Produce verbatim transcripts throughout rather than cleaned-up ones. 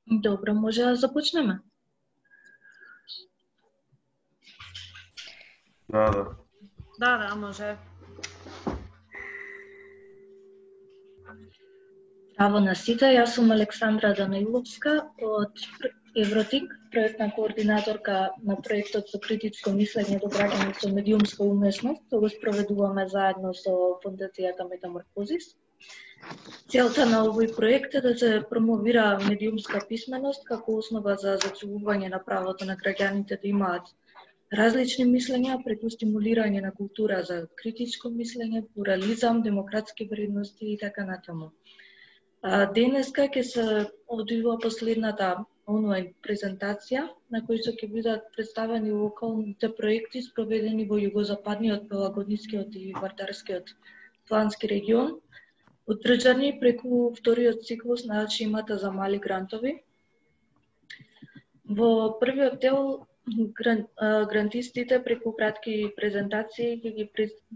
Добро, може да започнеме? Да, да. Да, да, може. Здраво на сите, јас сум Александра Даниловска од Евротик, проектна координаторка на проектот со критичко мислење до граѓани со медиумска умесност, што го спроведуваме заедно со Фондацијата Метаморфозис. Целта на овој проект е да се промовира медиумска писменост како основа за зацелување на правото на граѓаните да имаат различни мислења преку стимулирање на култура за критичко мислење, плурализам, демократски вредности и така натаму. Денеска ќе се одвива последната онлайн презентација на која ќе бидат представени локалните проекти спроведени во југозападниот, Пелагонискиот и Вардарскиот плански регион, одржани преку вториот циклус на шемата за мали грантови. Во првиот дел грантистите преку кратки презентации ќе ги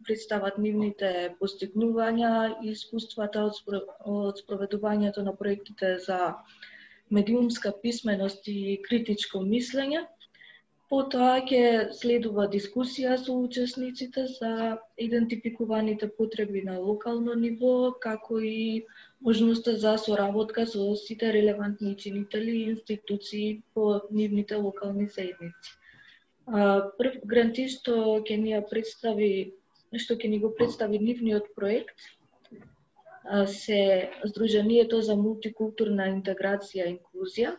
представат нивните постигнувања и искуствата од спроведувањето на проектите за медиумска писменост и критичко мислење. Потоа ќе следува дискусија со учесниците за идентификуваните потреби на локално ниво, како и можноста за соработка со сите релевантни чинители и институции по нивните локални заедници. Прв грантист што ќе ни ја представи, што ќе ни го представи нивниот проект се Сдруженијето за мултикултурна интеграција и инклузија.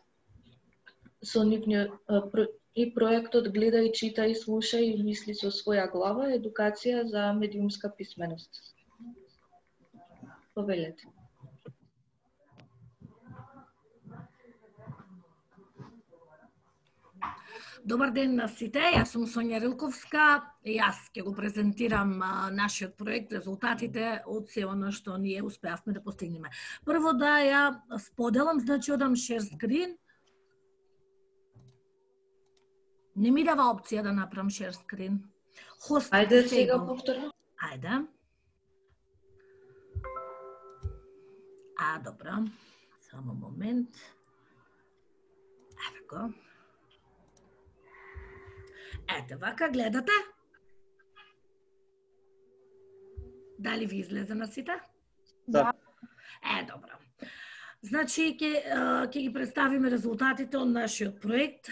Со нивниот и проектот Гледај, читај, слушај и мисли со своја глава, едукација за медиумска писменост. Повелете. Добар ден на сите, јас сум Сонја Рилковска и јас ќе го презентирам а, нашиот проект, резултатите од се оно што ние успеавме да постигнеме. Прво да ја споделам, значи одам share screen. Не ми дава опција да направам share screen. Host Ајде сега повторно. Ајде. А, добро. Само момент. Еве го. Ете, вака гледате? Дали ви излезе на сите? Да. Е, добро. Значи, ќе ќе ги представиме резултатите од нашиот проект.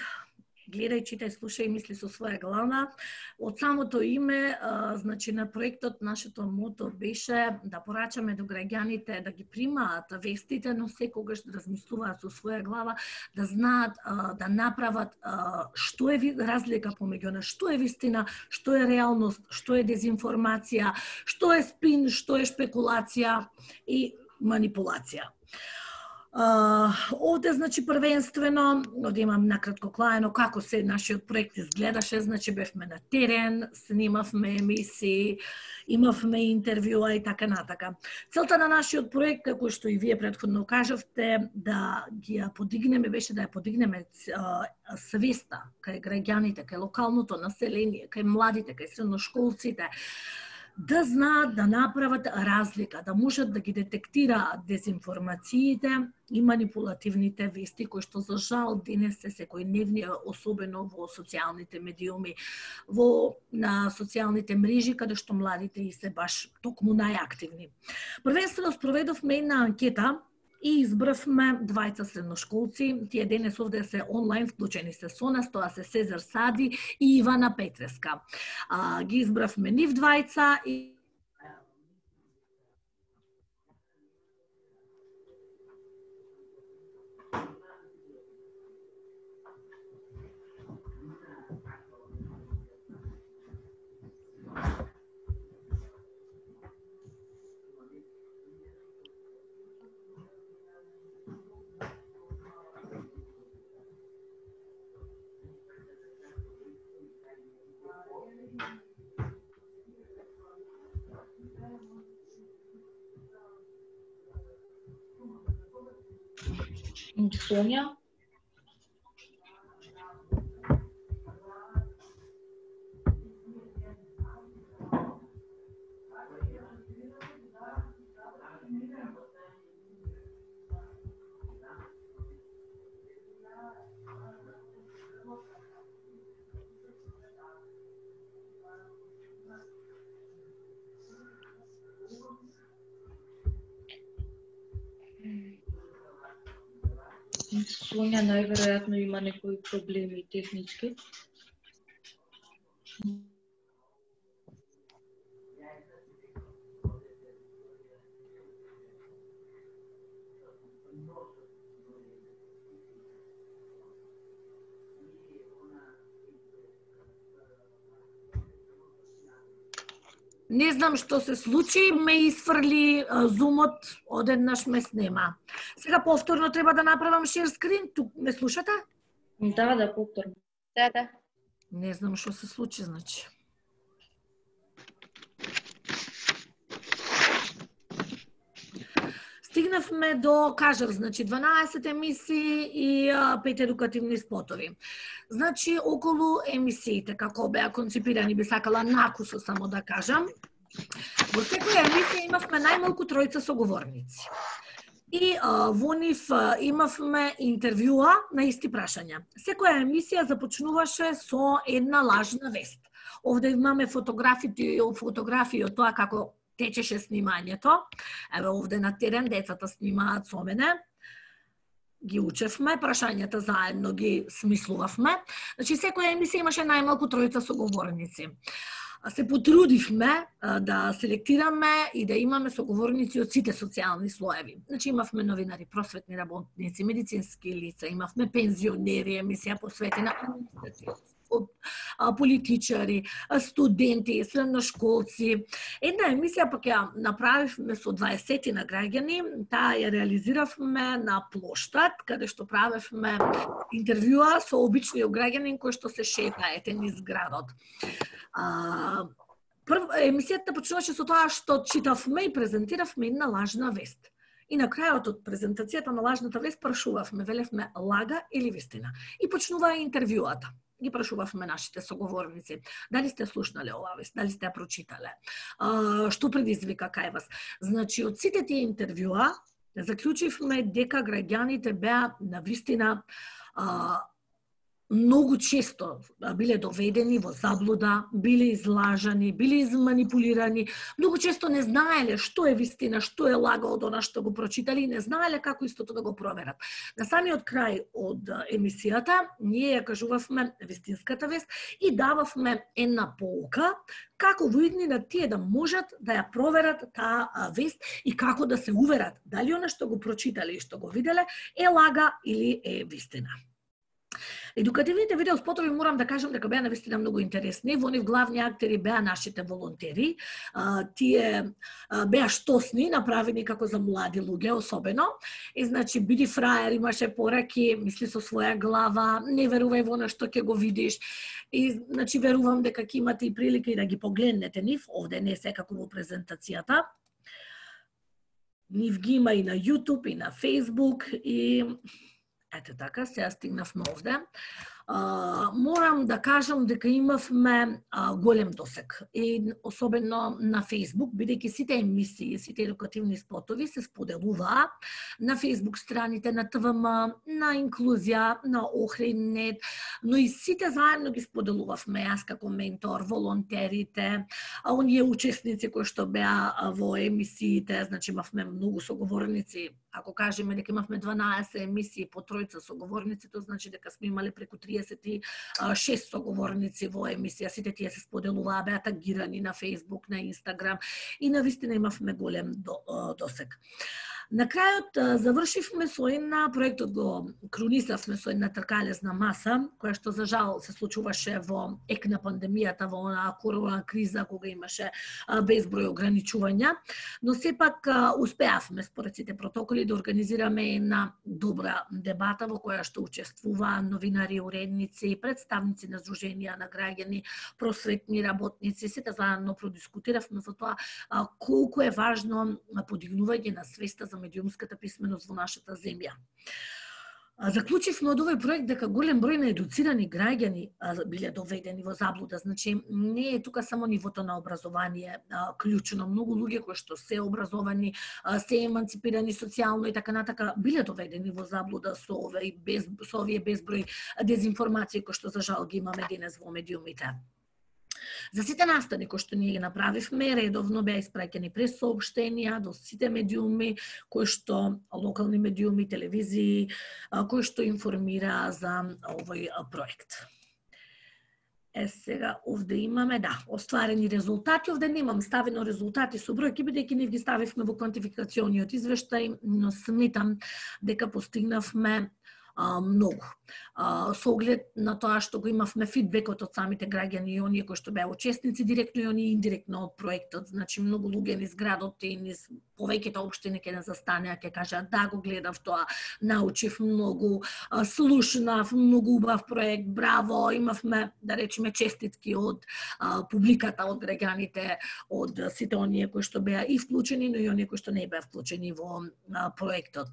Гледај, читај, слушај и мисли со своја глава. Од самото име, а, значи на проектот, нашето мото беше да порачаме до граѓаните да ги примаат вестите, но секогаш да размислуваат со своја глава, да знаат, а, да направат а, што е разлика помеѓу на што е вистина, што е реалност, што е дезинформација, што е спин, што е шпекулација и манипулација. Uh, овде, значи, првенствено, овде имам накратко клаено како се нашиот проект изгледаше, значи бевме на терен, снимавме емисии, имавме интервјуа и така натака. Целта на нашиот проект, како што и вие претходно кажавте, да ги ја подигнеме, беше да ја подигнеме uh, свеста кај граѓаните, кај локалното население, кај младите, кај средношколците, да знаат да направат разлика, да можат да ги детектираат дезинформациите и манипулативните вести кои што за жал денес се секојдневни, особено во социјалните медиуми, во на социјалните мрежи каде што младите и се баш токму најактивни. Првенствено спроведовме една анкета и избравме двајца средношколци, тие денес овде се онлайн, вклучени се со нас, тоа се Сезар Сади и Ивана Петреска. А, ги избравме нив двајца и Сонја. Сонја најверојатно има некои проблеми технички. Не знам што се случи, ме изфрли зумот, одеднаш ме снема. Сега повторно треба да направам шер скрин, тук ме слушате? Да, да, повторно. Да, да. Не знам што се случи, значи. Стигнавме до, кажав, значи дванаесет емисии и пет едукативни спотови. Значи, околу емисиите, како беа концепирани, би сакала накусо само да кажам. Во секоја емисија имавме најмалку тројца соговорници. И а, во нив а, имавме интервјуа на исти прашања. Секоја емисија започнуваше со една лажна вест. Овде имаме фотографии, фотографии од тоа како течеше снимањето. Еве овде на терен децата снимаат со мене. Ги учевме, прашањата заедно ги смислувавме. Значи, секоја емисија имаше најмалку тројца соговорници. Се потрудивме да селектираме и да имаме соговорници од сите социјални слоеви. Значи, имавме новинари, просветни работници, медицински лица, имавме пензионери, емисија посветена од политичари, студенти, средношколци. Една емисија пак ја направивме со дваесет на граѓани, таа ја реализиравме на плоштад, каде што правевме интервјуа со обичниот граѓанин кој што се шета етен низ градот. А, прв, емисијата почнуваше со тоа што читавме и презентиравме една лажна вест. И на крајот од презентацијата на лажната вест прашувавме, велевме лага или вистина. И почнува интервјуата. Ги прашувавме нашите соговорници. Дали сте слушнале оваа вест, дали сте ја прочитале, а, што предизвика кај вас. Значи, од сите тие интервјуа, заклучивме дека граѓаните беа навистина а, многу често биле доведени во заблуда, биле излажани, биле изманипулирани, многу често не знаеле што е вистина, што е лага од она што го прочитали и не знаеле како истото да го проверат. На самиот крај од емисијата ние ја кажувавме вистинската вест и дававме една поука како во иднина тие да можат да ја проверат таа вест и како да се уверат дали она што го прочитале и што го виделе е лага или е вистина. Едукативните видеоспотови морам да кажам дека беа навистина многу интересни. Во нив главни актери беа нашите волонтери. А, тие а, беа штосни, направени како за млади луѓе особено. И значи биди фраер, имаше пораки, мисли со своја глава, не верувај во она што ќе го видиш. И значи верувам дека ќе имате и прилика и да ги погледнете нив, овде не секако во презентацијата. Нив ги има и на YouTube и на Facebook и ете така, сега стигнавме овде. А, морам да кажам дека имавме а, голем досег. И особено на Facebook, бидејќи сите емисии, сите едукативни спотови се споделуваа на Facebook страните на ТВМ, на Инклузија, на Охриднет, но и сите заедно ги споделувавме, јас како ментор, волонтерите, а оние учесници кои што беа во емисиите, значи имавме многу соговорници. Ако кажеме дека имавме дванаесет емисии по тројца соговорници, тоа значи дека сме имале преку триесет и шест соговорници во емисија. Сите тие се споделуваа, беа тагирани на Facebook, на Instagram и навистина имавме голем досег. На крајот завршивме со една, проектот го крунисавме со една тркалезна маса, која што за жал се случуваше во ек на пандемијата, во онаа корона криза, кога имаше безброј ограничувања, но сепак успеавме според сите протоколи да организираме една добра дебата во која што учествуваа новинари, уредници, представници на здруженија на граѓани, просветни работници, сите заедно продискутиравме за тоа колку е важно подигнување на свеста за медиумската писменост во нашата земја. Заклучивме од овој проект дека голем број на едуцирани граѓани биле доведени во заблуда. Значи, не е тука само нивото на образование клучно. Многу луѓе кои што се образовани, се еманципирани социјално и така натака, биле доведени во заблуда со овие без, со овие безброј дезинформации кои што за жал ги имаме денес во медиумите. За сите настани кои што ние ги направивме, редовно беа испраќани прес соопштенија до сите медиуми, кои што локални медиуми, телевизии, кои што информира за овој проект. Е, сега, овде имаме, да, остварени резултати. Овде немам ставено резултати со бројки, бидејќи ние ги ставивме во квантификациониот извештај, но сметам дека постигнавме а, многу. А, со оглед на тоа што го имавме фидбекот од самите граѓани и оние кои што беа учесници директно и оние индиректно од проектот, значи многу луѓе низ градот и низ повеќето општини ќе не застанеа, ќе кажат да, го гледав тоа, научив многу, слушнав, многу убав проект, браво, имавме, да речеме, честитки од а, публиката, од граѓаните, од сите оние кои што беа и вклучени, но и оние кои што не беа вклучени во а, проектот.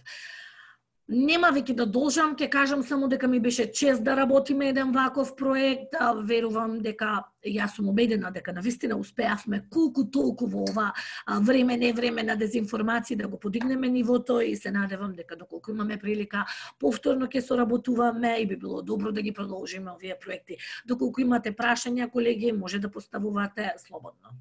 Нема веќе да должам, ќе кажам само дека ми беше чест да работиме еден ваков проект, а, верувам дека јас сум убедена дека навистина успеавме колку толку во ова време, не време на дезинформација да го подигнеме нивото и се надевам дека доколку имаме прилика повторно ќе соработуваме и би било добро да ги продолжиме овие проекти. Доколку имате прашања, колеги, може да поставувате слободно.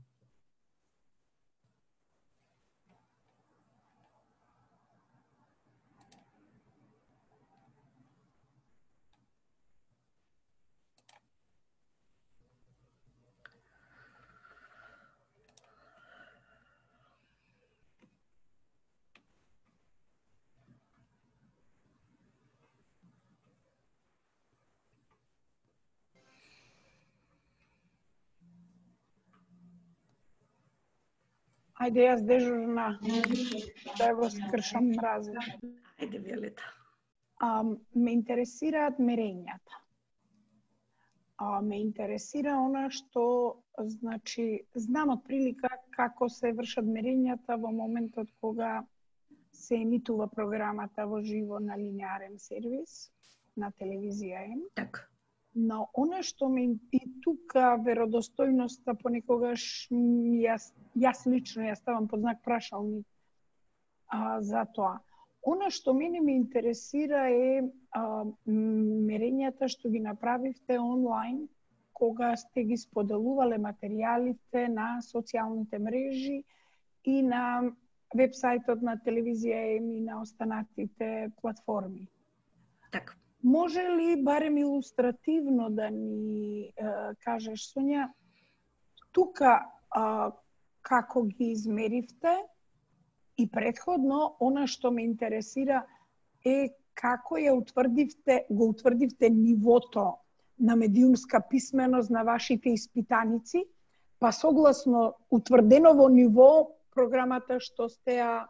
Ајде, јас дежурна, да го скршам мразот. Ајде, Виолета. А, ме интересираат мерењата. А, ме интересира она што, значи, знам од прилика како се вршат мерењата во моментот кога се емитува програмата во живо на линеарен сервис, на телевизија М. Така. Но она што ме и тука веродостојноста понекогаш јас, јас лично ја ставам под знак прашалник а, за тоа. Она што мене ме интересира е а, мерењата што ги направивте онлайн, кога сте ги споделувале материјалите на социјалните мрежи и на вебсајтот на телевизија М и на останатите платформи. Така. Може ли барем илустративно да ни е, кажеш, Сонја, тука е, како ги измеривте и претходно, она што ме интересира е како ја утврдивте, го утврдивте нивото на медиумска писменост на вашите испитаници, па согласно утврденово ниво програмата што сте ја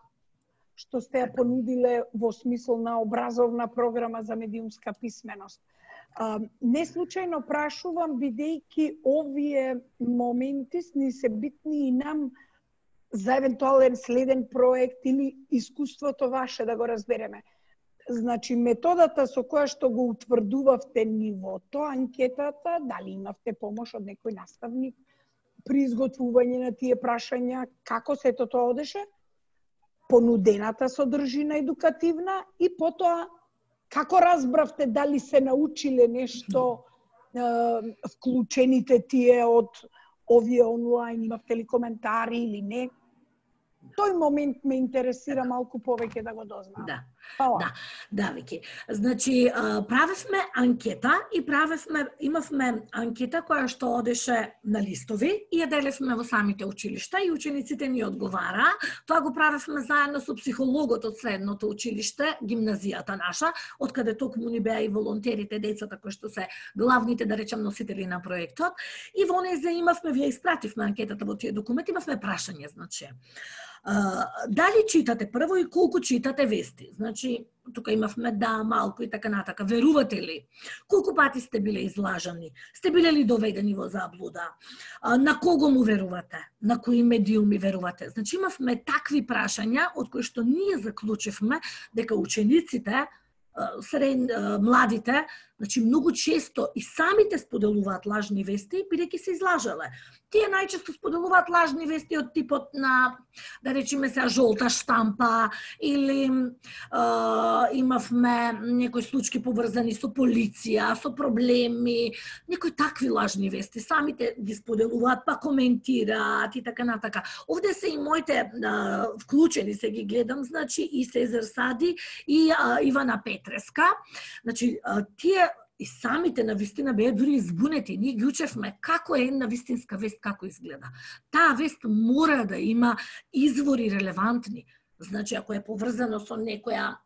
што сте ја понудиле во смисол на образовна програма за медиумска писменост. А, не случајно прашувам, бидејќи овие моменти ни се битни и нам за евентуален следен проект или искуството ваше да го разбереме. Значи, методата со која што го утврдувавте нивото, анкетата, дали имавте помош од некој наставник при изготвување на тие прашања, како сето тоа одеше? Понудената содржина едукативна и потоа како разбравте дали се научиле нешто е, вклучените тие од овие онлайн, имавте ли коментари или не? Тој момент ме интересира малку повеќе да го дознам. Да. Фала. Да, да, Вики. Значи, правевме анкета и правевме, имавме анкета која што одеше на листови и ја делевме во самите училишта и учениците ни одговара. Тоа го правевме заедно со психологот од средното училиште, гимназијата наша, од каде токму ни беа и волонтерите, децата кои што се главните, да речем, носители на проектот. И во нејзе имавме, вие испративме анкетата во тие документи, имавме прашање, значи. Uh, дали читате прво и колку читате вести? Значи, тука имавме да, малку и така натака. Верувате ли? Колку пати сте биле излажани? Сте биле ли доведени во заблуда? Uh, на кого му верувате? На кои медиуми верувате? Значи, имавме такви прашања од кои што ние заклучивме дека учениците сред младите, значи многу често и самите споделуваат лажни вести, бидејќи се излажале. Тие најчесто споделуваат лажни вести од типот на, да речеме се, жолта штампа, или е, имавме некои случаи поврзани со полиција, со проблеми, некои такви лажни вести. Самите ги споделуваат, па коментираат и така натака. Овде се и моите е, вклучени, се ги гледам, значи и Сезар Сади и е, Ивана Петреска. Значи, е, тие и самите на вистина беа дури избунети. Ние ги учевме како е една вистинска вест, како изгледа. Таа вест мора да има извори релевантни. Значи, ако е поврзано со некоја,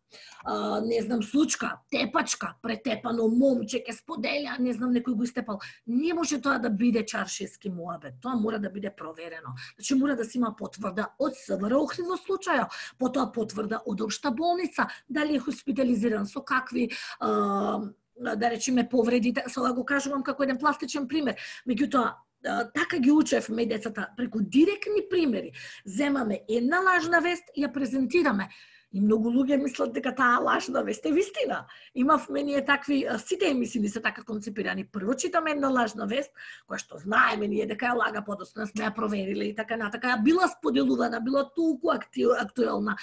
а, не знам, случка, тепачка, претепано момче ке споделя, не знам, некој го истепал, не може тоа да биде чаршиски муабет. Тоа мора да биде проверено. Значи, мора да се има потврда од СВР Охрид во случајот, потоа потврда од Општа болница, дали е хоспитализиран, со какви а, да речеме повреди, сега го кажувам како еден пластичен пример. Меѓутоа, така ги учевме децата, преку директни примери. Земаме една лажна вест и ја презентираме. И многу луѓе мислат дека таа лажна вест е вистина. Имавме ние такви, сите емисии се така концепирани. Прво читаме една лажна вест, која што знаеме ние дека ја лага, подоцна сме ја провериле и така натака. Била споделувана, била толку актуелна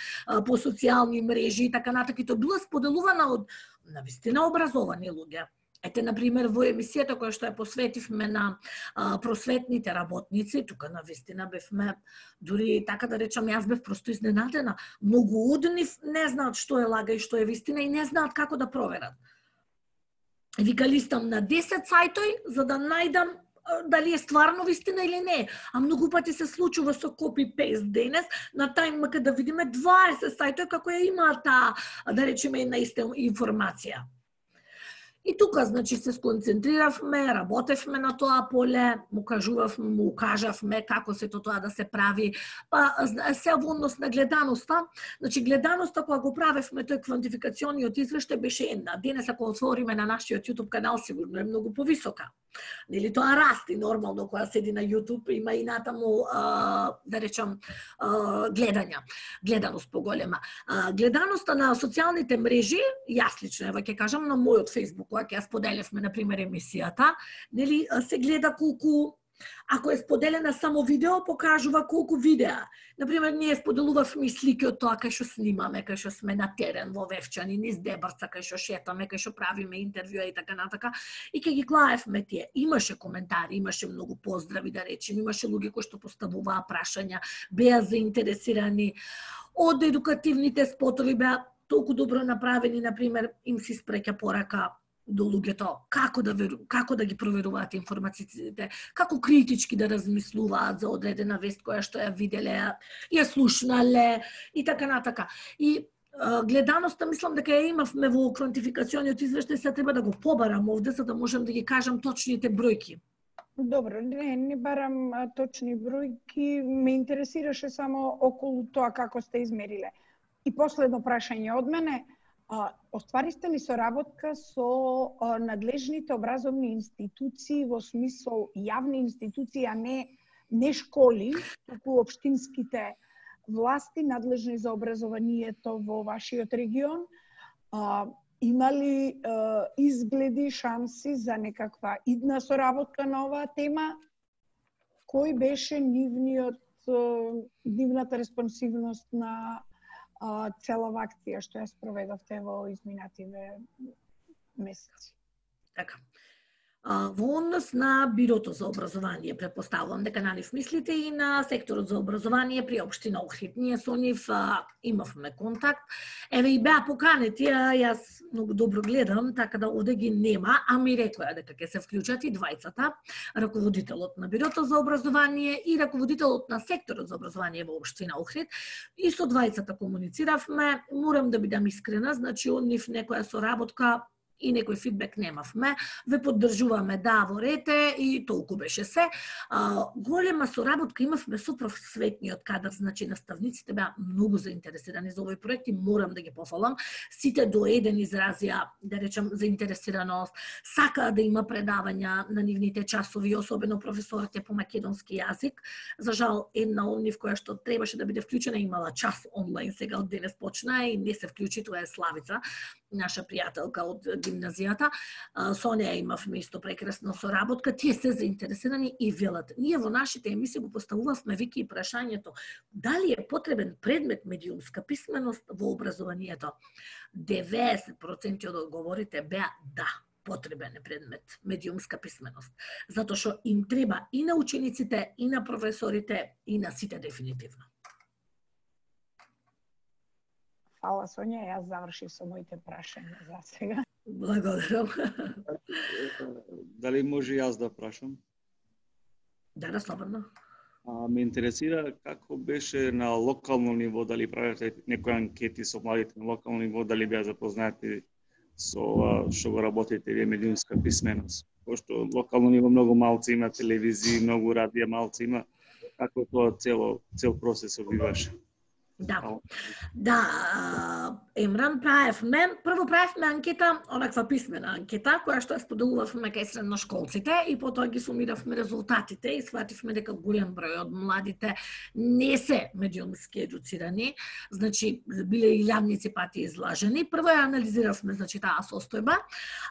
по социјални мрежи и така натака. И тоа била споделувана од навистина образовани луѓе. Ете, например, во емисијата која што ја посветивме на а, просветните работници, тука навистина бевме, дури така да речам, јас бев просто изненадена. Многу од нив не знаат што е лага и што е вистина и не знаат како да проверат. Вика, листам на десет сајтои за да најдам дали е стварно вистина или не. А многу пати се случува со копи-пейст денес, на тајмака да видиме дваесет сајтои како ја има таа, да речеме, една иста информација. И тука, значи, се сконцентриравме, работевме на тоа поле, му кажувавме, му укажавме како се тоа да се прави. Па, се во однос на гледаноста, значи, гледаноста, кога го правевме тој квантификациониот извештај, беше една. Денес, ако отвориме на нашиот YouTube канал, сигурно е многу повисока. Нели, тоа расти нормално, кога седи на YouTube, има и натаму, а, да речам, а, гледања, гледаност поголема. А, гледаноста на социјалните мрежи, јас лично, ева ќе кажам, на мојот Facebook, кога ќе ја споделевме, например, емисијата, нели, се гледа колку, ако е споделена само видео, покажува колку видеа. Например, ние споделувавме слики од тоа кај што снимаме, кај што сме на терен во Вевчани, низ Дебарца, кај што шетаме, кај што правиме интервјуа и така натака. И ќе ги гледавме тие. Имаше коментари, имаше многу поздрави, да речем, имаше луѓе кои што поставуваа прашања, беа заинтересирани. Од едукативните спотови беа толку добро направени, например, им се испреќа порака до луѓето, како да, веру, како да ги проверуваат информациите, како критички да размислуваат за одредена вест која што ја виделе, ја слушнале и така натака. И а, гледаноста, мислам дека ја имавме во квантификациониот извештај, се треба да го побарам овде, за да можам да ги кажам точните бројки. Добро, не, не барам а, точни бројки, ме интересираше само околу тоа како сте измериле. И последно прашање од мене, А, остваристе ли соработка со а, надлежните образовни институции во смисол јавни институции, а не, не школи, туку општинските власти надлежни за образованието во вашиот регион? А, има ли а, изгледи, шанси за некаква идна соработка на оваа тема? Кој беше нивниот, нивната респонсивност на целава акција што ја спроведовте во изминативе месеци? Така. Во однос на Бирото за образование, претпоставувам дека на нив мислите и на секторот за образование при општина Охрид. Ние со нив а, имавме контакт. Еве и беа поканети, а јас многу добро гледам, така да овде ги нема, а ми рекоа дека ќе се вклучат и двајцата, раководителот на Бирото за образование и раководителот на секторот за образование во општина Охрид. И со двајцата комунициравме. Морам да бидам искрена, значи од нив некоја соработка и некој фидбек немавме. Ве поддржуваме, да, во рете и толку беше се. А, голема соработка имавме со просветниот кадар, значи наставниците беа многу заинтересирани за овој проект и морам да ги пофалам. Сите до еден изразија, да речем, заинтересираност, сакаа да има предавања на нивните часови, особено професорите по македонски јазик. За жал, една од нив која што требаше да биде вклучена имала час онлайн, сега од денес почна и не се вклучи, тоа е Славица, наша пријателка од гимназијата. Со неја имавме исто прекрасна соработка. Тие се заинтересирани и велат. Ние во нашите емисии го поставувавме веќе и прашањето дали е потребен предмет медиумска писменост во образованието. деветдесет проценти од одговорите беа да, потребен е предмет медиумска писменост, затоа што им треба и на учениците, и на професорите, и на сите дефинитивно. Фала, Сонја, јас завршив со моите прашања за сега. Благодарам. Дали може јас да прашам? Да, да, слободно. А, ме интересира како беше на локално ниво, дали правите некои анкети со младите на локално ниво, дали беа запознати со што го работите вие медиумска писменост. Пошто локално ниво многу малци има телевизии, многу радија малци има, како тоа цело цел процес обиваше. Да, да, Емран правевме, прво правевме анкета, онаква писмена анкета, која што ја споделувавме кај средношколците и потоа ги сумиравме резултатите и свативме дека голем број од младите не се медиумски едуцирани, значи биле и илјадници пати излажени. Прво ја анализиравме, значи, таа состојба,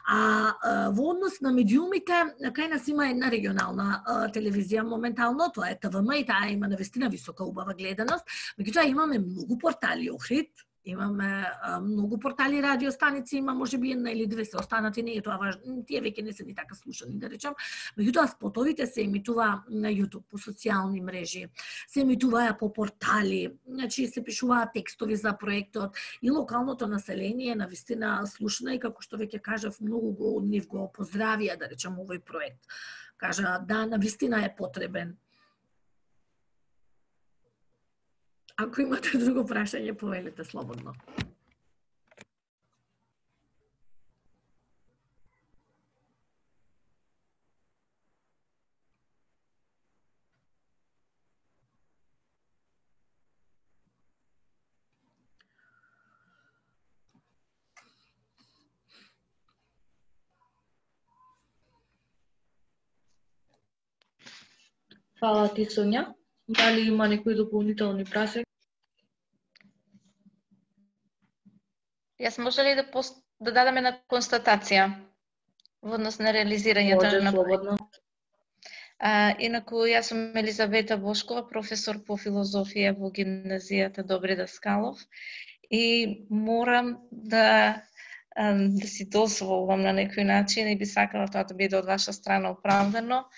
а во однос на медиумите, кај нас има една регионална телевизија моментално, тоа е Т В М и таа има навистина висока убава гледаност, меѓутоа имаме многу портали Охрид, имаме а, многу портали радиостаници, има можеби една или две се останати, не е тоа важно, тие веќе не се ни така слушани, да речам. Меѓутоа спотовите се емитуваа на YouTube, по социјални мрежи, се емитуваа по портали, значи се пишуваат текстови за проектот и локалното население навистина слушна и како што веќе кажав, многу го од нив го поздравија, да речам, овој проект. Кажа, да, навистина е потребен. Ако имате друго прашање, повелете слободно. Фала ти, Сонја. Дали има некои дополнителни прашања? Јас може ли да, пост... да дадам една констатација во однос на реализирањето Може, на слободно. А, инаку, јас сум Елизавета Бошкова, професор по филозофија во гимназијата Добри Даскалов и морам да, да си дозволам на некој начин и би сакала тоа да биде од ваша страна оправдано,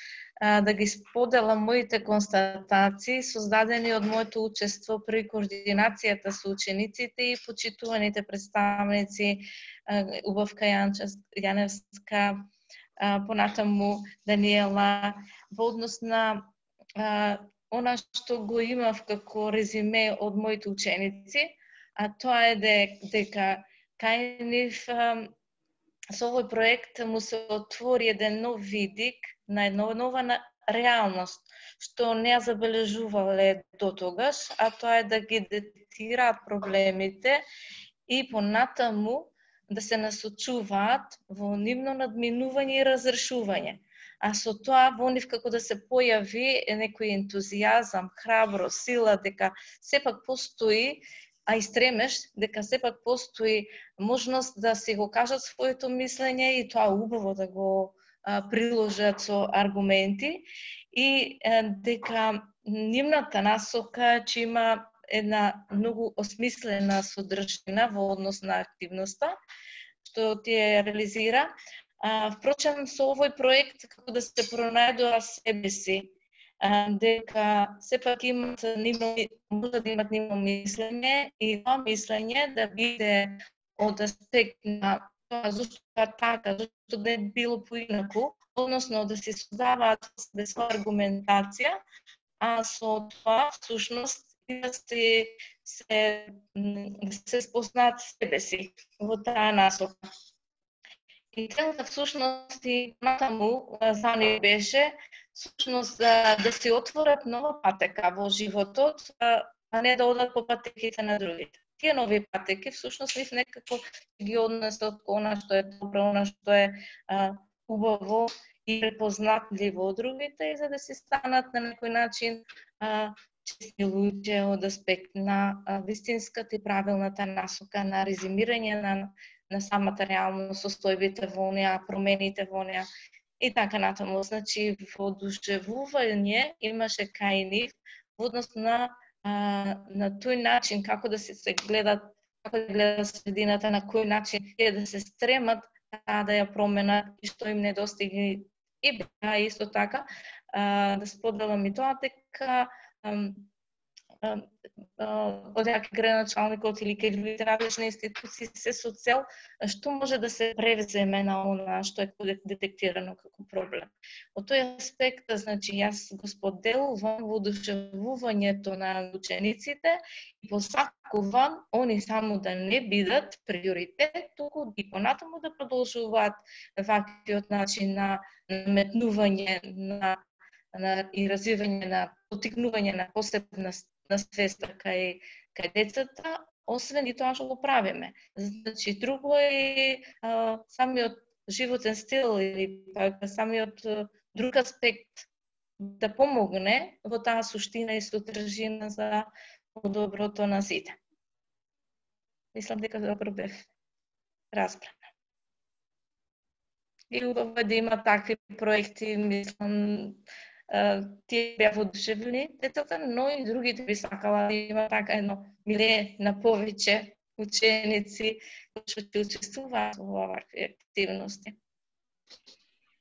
да ги споделам моите констатации создадени од моето учество при координацијата со учениците и почитуваните представници Убавка Јаневска, понатаму Даниела, во однос на она што го имав како резиме од моите ученици, а тоа е дека кај нив со овој проект му се отвори еден нов видик на една нова реалност, што не ја забележувале до тогаш, а тоа е да ги детектираат проблемите и понатаму да се насочуваат во нивно надминување и разрешување. А со тоа во нив како да се појави некој ентузијазам, храброст, сила, дека сепак постои, а и стремеш дека сепак постои можност да си го кажат своето мислење и тоа убаво да го а, приложат со аргументи и а, дека нивната насока че има една многу осмислена содржина во однос на активноста што тие реализира. А, впрочем, со овој проект како да се пронајдува себе си, дека сепак имат нивно, може да имат нивно мислење и тоа мислење да биде од аспект на тоа зашто така, зашто да е било поинаку, односно да се создаваат своја аргументација, а со тоа всушност да се, се, се спознаат себе си во таа насока. И целта всушност и натаму за нив беше всушност да, да се отворат нова патека во животот, а не да одат по патеките на другите. Тие нови патеки всушност нив некако ги однесат кон она што е добро, она што е а, убаво и препознатливо од другите, и за да се станат на некој начин а, честни луѓе од аспект на а, вистинската и правилната насока на резимирање на на самата реалност, состојбите во неа, промените во неа и така натаму. Значи, воодушевување имаше кај нив во однос на а, на тој начин како да се, се гледат, како да гледат средината, на кој начин е да се стремат да ја променат и што им недостига. И беа исто така а, да споделам и тоа дека од јаки граначалникот или кај другите надлежни институции се со цел што може да се превземе на она што е детектирано како проблем. Од тој аспект, значи, јас го споделувам воодушевувањето на учениците и посакувам они само да не бидат приоритет, туку и понатаму да продолжуваат ваквиот начин на наметнување на, на и развивање на потикнување на посебна на свеста кај, кај децата, освен и тоа што го правиме. Значи, друго е а, самиот животен стил или па, самиот а, друг аспект да помогне во таа суштина и содржина за доброто на сите. Мислам дека добро бев разбрана. И убаво да има такви проекти, мислам, тие беа воодушевени децата, но и другите би сакала да има така едно милие на повеќе ученици кои што ќе учествуваат во овакви активности.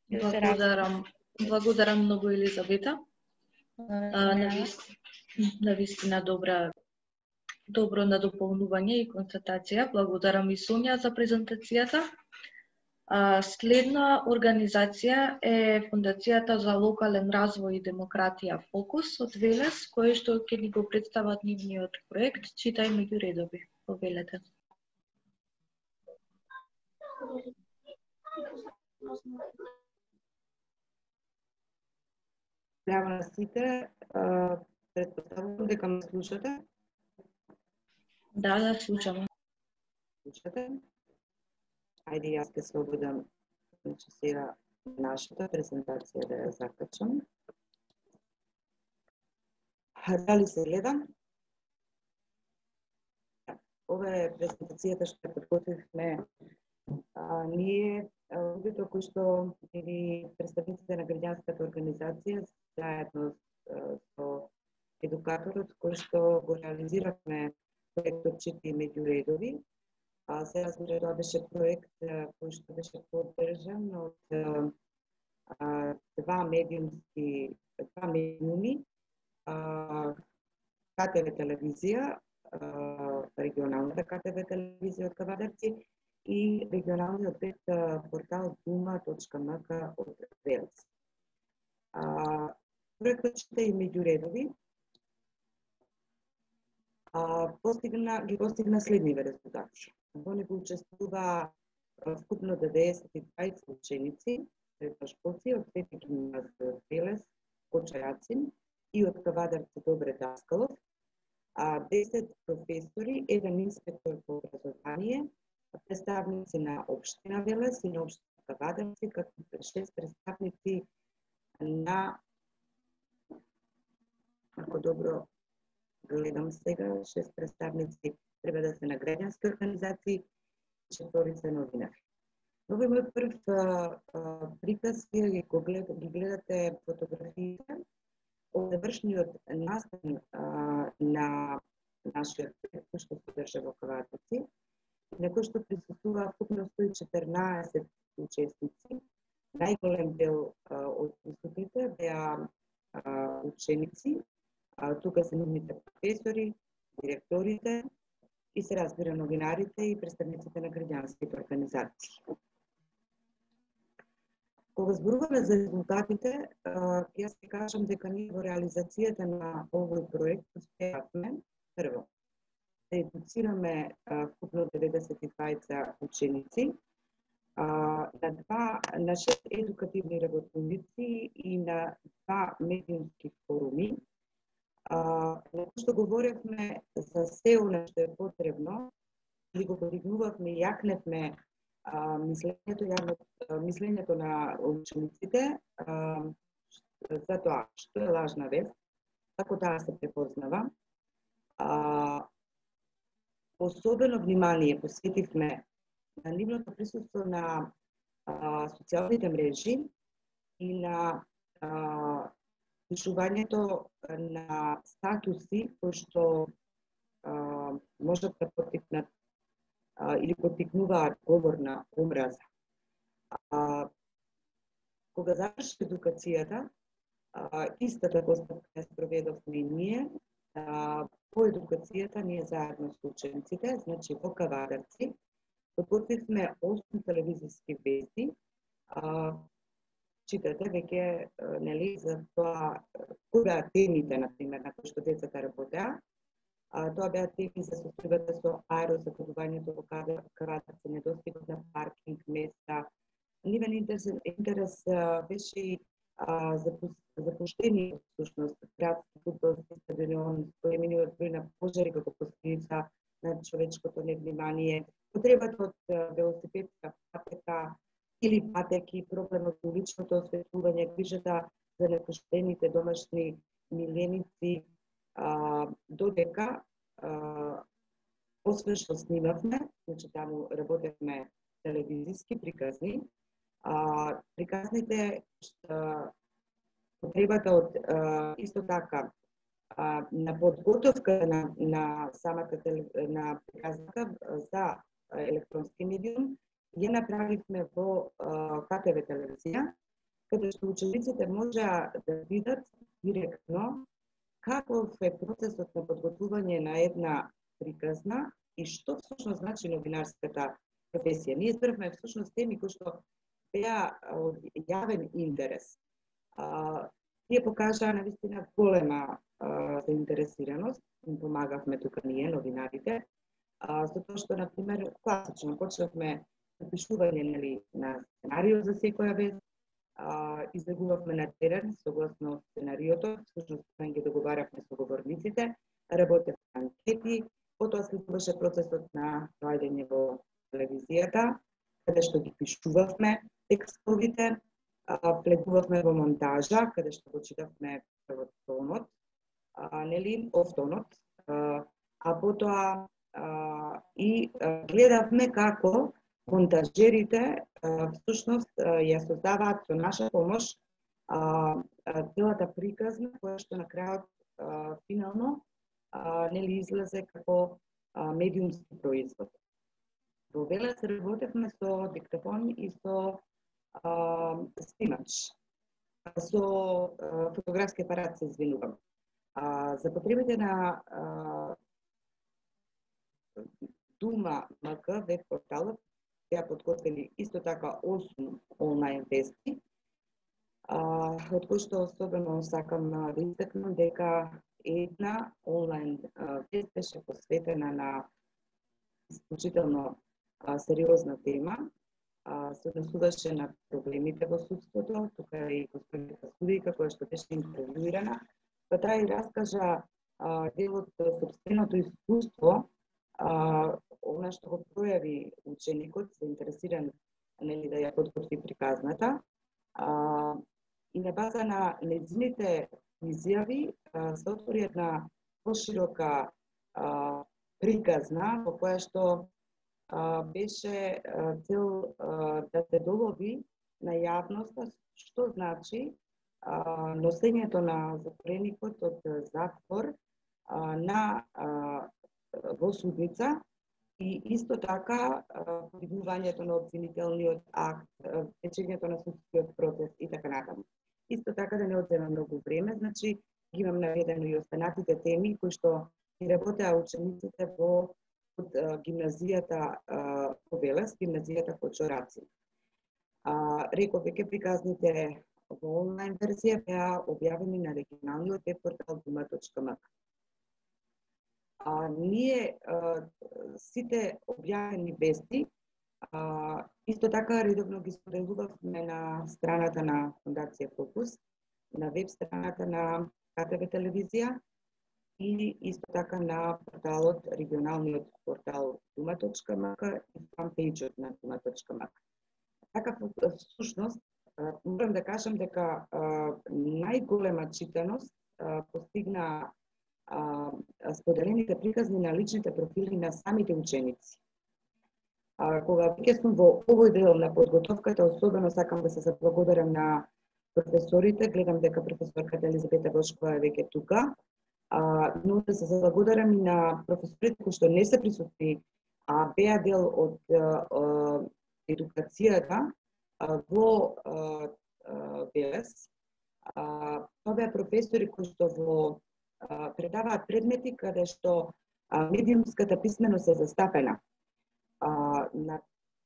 Благодарам. Благодарам многу, Елизавета. На вистина добра добро надополнување и констатација. Благодарам и Сонја за презентацијата. Следна организација е Фондацијата за локален развој и демократија Фокус од Велес, кој што ќе ни го представат нивниот проект Читај меѓу редови. Повелете. Здраво на сите, претпоставувам дека ме слушате. Да, да, слушаме. Слушате? Ајде, јас ке слободам, значи сега нашата презентација да ја закачам. Дали се гледа? Ова е презентацијата што ја подготвивме а, ние, луѓето кои што или представниците на граѓанската организација заедно со едукаторот кој што го реализиравме проектот Читај меѓу редови. А се разбира, тоа беше проект кој што беше поддржан од а, два медиумски, два медиуми, К Т В телевизија, а, регионалната К Т В телевизија од Кавадарци и регионалниот веб портал дума точка ем ка од Велес. Проектот Читај меѓу редови а, постигна, ги постигна следниве резултати. Во него учествува вкупно деветдесет и двајца ученици, средношколци од Свети гимназија од Велес, Кочајацин и од Кавадарци Добре Даскалов, а десет професори, еден инспектор по образование, представници на општина Велес и на општина Кавадарци, како шест представници на, ако добро гледам сега, шест представници треба да се на граѓански организации и четворица новинари. Ова е мој прв а, а, приказ, вие ги, глед, ги гледате фотографиите од завршниот настан а, на нашиот проект, кој што се држа во Кавадарци, на кој што присуствува вкупно сто и четрнаесет учесници. Најголем дел а, од присутните беа а, ученици, а, тука се нивните професори, директорите, и се разбира новинарите и представниците на граѓанските организации. Кога зборуваме за резултатите, јас ќе кажам дека ние во реализацијата на овој проект успеавме прво да едуцираме вкупно деветдесет и двајца ученици на два на шест едукативни работници и на два медиумски форуми, на кои што говоревме за се она што е потребно, и го подигнувавме и јакневме мислењето, јавно, мислењето на учениците за тоа што е лажна вест, како таа се препознава. Особено внимание посветивме на нивното присуство на а, социјалните мрежи и на а, пишувањето на статуси кои што а, можат да поттикнат а, или поттикнуваат говор на омраза. А, кога заврши едукацијата, а, истата постапка ја спроведовме и ние. А, по едукацијата ние заедно со учениците, значи во Кавадарци, подготвивме осум телевизиски вести. А, читате веќе, нели, за тоа кои беа темите, например, на кои што децата работеа. А, тоа беа теми за состојбата со аерозагорувањето во Кавадарци, недостигот на паркинг места. Нивен интерес, интерес беше и запуштени, всушност, градски фудбалски стадион, поемениот број на пожари како последица на човечкото невнимание, потребата од велосипедска патека или патеки, проблемот со уличното осветлување, грижата за напуштените домашни миленици, а, додека а, освен што снимавме, значи таму работевме телевизиски приказни, а, приказните а, потребата од а, исто така а, на подготовка на, на самата на приказната за електронски медиум ја направивме во Ка Те Ве телевизија, каде што учениците можеа да видат директно каков е процесот на подготвување на една приказна и што всушност значи новинарската професија. Ние избравме всушност теми кои што беа од јавен интерес. А, тие покажаа навистина голема а, заинтересираност, им помагавме тука ние, новинарите, а, за тоа што, например, класично почнавме напишување, нели, на сценарио за секоја вест, излегувавме на терен согласно сценариото, всушност ги договаравме со говорниците, работевме анкети, потоа следуваше процесот на доаѓање во телевизијата, каде што ги пишувавме текстовите, влегувавме во монтажа, каде што го читавме прво тонот, а, нели, офтонот, а, а потоа а, и а, гледавме како монтажерите всушност ја создаваат со наша помош целата приказна, која што на крајот финално нели излезе како медиумски производ. Во Велес работевме со диктафон и со снимач, со фотографски апарат, се извинувам. За потребите на Дума МК веб порталот беа подготвени исто така осум онлайн вести, од кои што особено сакам да истакнам дека една онлайн вест беше посветена на исклучително сериозна тема, се однесуваше на проблемите во судството, тука и господината судика која што беше интервјуирана, па таа и раскажа дел од сопственото искуство, она што го пројави ученикот, заинтересиран, нели, да ја подготви приказната, а, и на база на нејзините изјави се отвори една поширока а, приказна во која што а, беше а, цел а, да се долови на јавноста што значи а, носењето на затвореникот од затвор а, на а, во судница и исто така подигнувањето на обвинителниот акт, течењето на судскиот процес и така натаму. Исто така, да не одзема многу време, значи ги имам наведено и останатите теми кои што ги работеа учениците во од гимназијата во Велес, гимназијата Кочораци. Реков веќе приказните во онлайн верзија беа објавени на регионалниот веб портал дума точка ем ка. А, ние а, сите објавени вести А, исто така редовно ги споделувавме на страната на Фондација Фокус, на веб страната на КТВ телевизија и исто така на порталот, регионалниот портал дума точка м к и фанпејџот на дума точка м к. Така, всушност, морам да кажам дека најголема читаност постигна споделените приказни на личните профили на самите ученици. А, кога веќе сум во овој дел на подготовката, особено сакам да се заблагодарам на професорите, гледам дека професорката Елизабета Бошкова е веќе тука, а, но да се заблагодарам и на професорите кои што не се присутни, а беа дел од а, а, едукацијата а, во ВЕЛЕС. Тоа беа професори кои што во а, предаваат предмети каде што а, медиумската писменост е застапена. А, на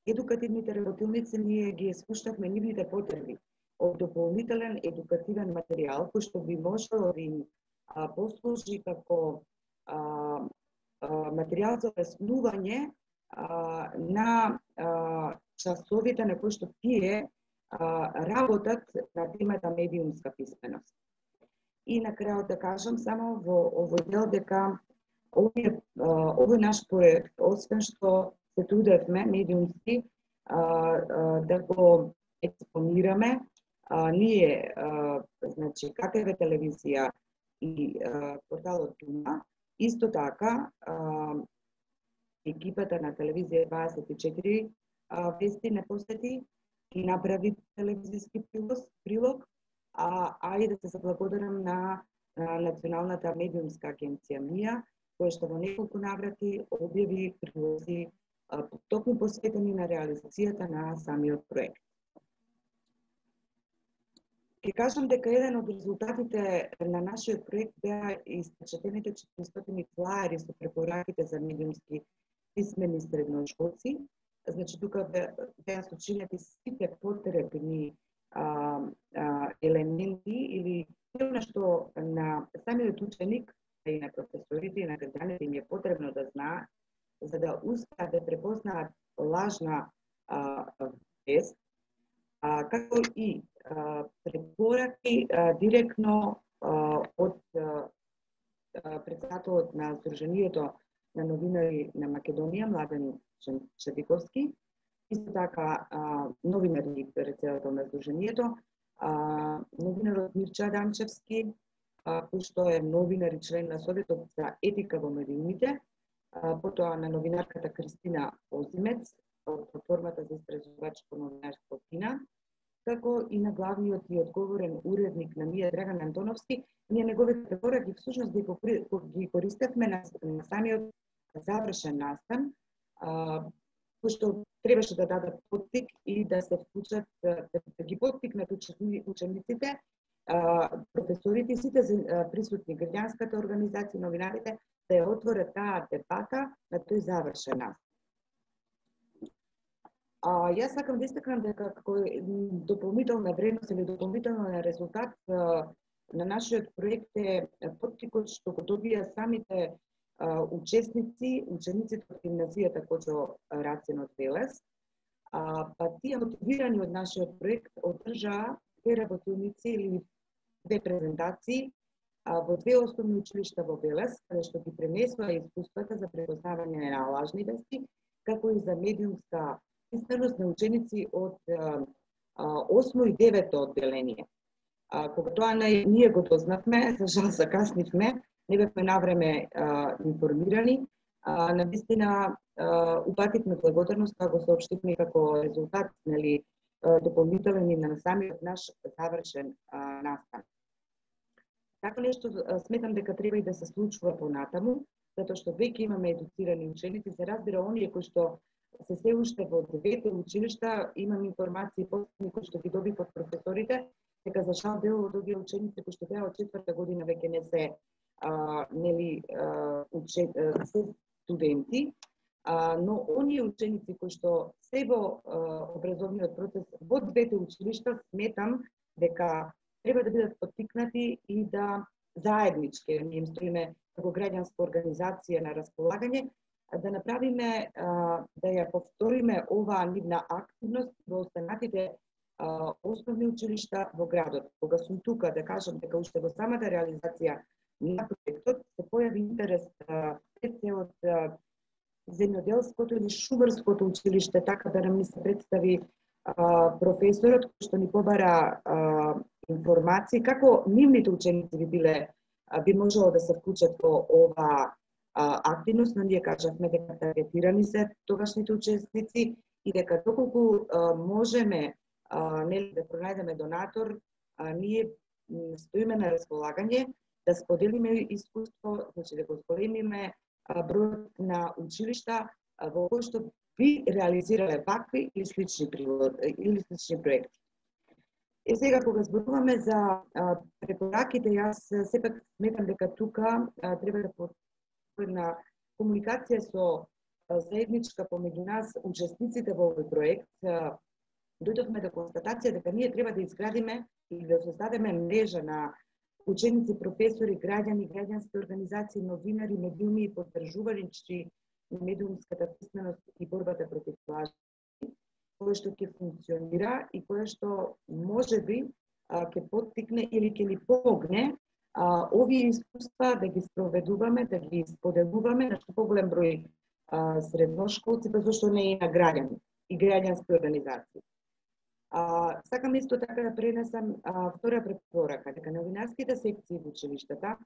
едукативните работилници ние ги спуштавме нивните потреби од дополнителен едукативен материјал кој што би можело да им а, послужи како а, а, материјал за обяснување на а, часовите на кои што тие а, работат на темата медиумска писменост. И на крајот да кажам само во овој дел дека овој, овој наш проект, освен што се трудевме медиумски а, а, да го експонираме, а, ние, а, значи, КТВ телевизија и а, порталот Дума, исто така а, екипата на телевизија дваесет и четири а, вести не посети и направи телевизиски прилог, а, а и да се заблагодарам на, на Националната медиумска агенција МИА, која што во неколку наврати објави прилози токму посветени на реализацијата на самиот проект. Ке кажам дека еден од резултатите на нашиот проект беа испечатените четиристотини флаери со препораките за медиумски писмени средношколци. Значи, тука беа сочинети сите потребни а, а, елементи или она што на самиот ученик и на професорите и на граѓаните им е потребно да знаат за да успеат да препознаат лажна а, вест, а, како и а, препораки а, директно а, од а, председателот на Сдруженијето на новинари на Македонија, Младен Чедиковски, исто така а, новинари председател на Сдруженијето, а, новинарот Мирча Адамчевски, а, кој што е новинар и член на Советот за етика во медиумите, потоа на новинарката Кристина Озимец од платформата за истражувачко новинарство КИНА, како и на главниот и одговорен уредник на МИА Драган Антоновски. Ние неговите препораки всушност ги, ги користевме на, на самиот завршен настан, кој што требаше да дадат поттик и да се вклучат, да, да ги поттикнат учениците, професорите и сите присутни, граѓанската организација, новинарите, да ја отворат таа дебата на тој завршен настан. А, јас сакам да истакнам дека како дополнителна вредност или дополнителен резултат а, на нашиот проект е поттикот што го добија самите а, учесници, учениците од гимназијата Кочо Рацин од ВЕЛЕС, а, па тие мотивирани од нашиот проект одржаа две работилници или две презентации во две основни училишта во ВЕЛЕС, каде што ги пренесува искуствата за препознавање на лажни вести, како и за медиумска писменост на ученици од осмо и девето одделение. А, кога тоа не, ние го дознавме, за жал закаснивме, не бевме навреме а, информирани, а, навистина упативме благодарност, тоа го соопштивме како резултат, нели, дополнителен и на самиот наш завршен а, настан. Така нешто сметам дека треба и да се случува понатаму, затоа што веќе имаме едуцирани ученици, се разбира оние кои што се се уште во двете училишта, имам информации последни кои што ги добив од професорите, дека за жал дел од овие ученици кои што беа од четврта година веќе не се а, нели а, уче, а, се студенти, а, но оние ученици кои што се во а, образовниот процес во двете училишта, сметам дека треба да бидат поттикнати и да заеднички, ние им стоиме како граѓанска организација на располагање, да направиме, да ја повториме оваа нивна активност во останатите основни училишта во градот. Кога сум тука да кажам дека уште во самата реализација на проектот се појави интерес пред се од земјоделското или шумарското училиште, така да нам ни се представи професорот кој што ни побара информации како нивните ученици би биле би можело да се вклучат во ова активност, но ние кажавме дека таргетирани се тогашните учесници и дека доколку можеме нели да пронајдеме донатор, ние стоиме на располагање да споделиме искуство, значи да го зголемиме бројот на училишта во кои што би реализирале вакви или слични или слични проекти. Е сега кога зборуваме за препораките, јас сепак сметам дека тука треба да една комуникација со заедничка помеѓу нас учесниците во овој проект. Дојдовме до констатација дека ние треба да изградиме или да создадеме мрежа на ученици, професори, граѓани, граѓански организации, новинари, медиуми и поддржуваличи на медиумската писменост и борбата против лажи, кое што ќе функционира и кое што можеби ќе поттикне или ќе ни помогне а, овие искуства да ги спроведуваме, да ги споделуваме на што поголем број а, средношколци, зашто не и на граѓани и граѓански организации. А, сакам исто така да пренесам а, втора препорака, дека новинарските секции во училиштата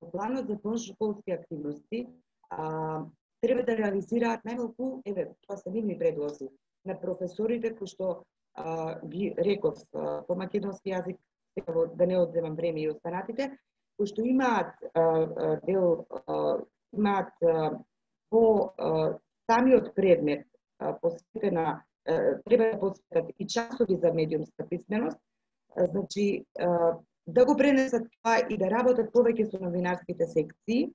во планот за дошколски активности а, треба да реализираат најмалку, еве, тоа се нивни предлози, на професорите кои што а, ги реков а, по македонски јазик, да не одземам време и останатите, кои што имаат а, а, дел, а, имаат а, по а, самиот предмет а, посветена, а, треба да посветат и часови за медиумска писменост, а, значи а, да го пренесат тоа и да работат повеќе со новинарските секции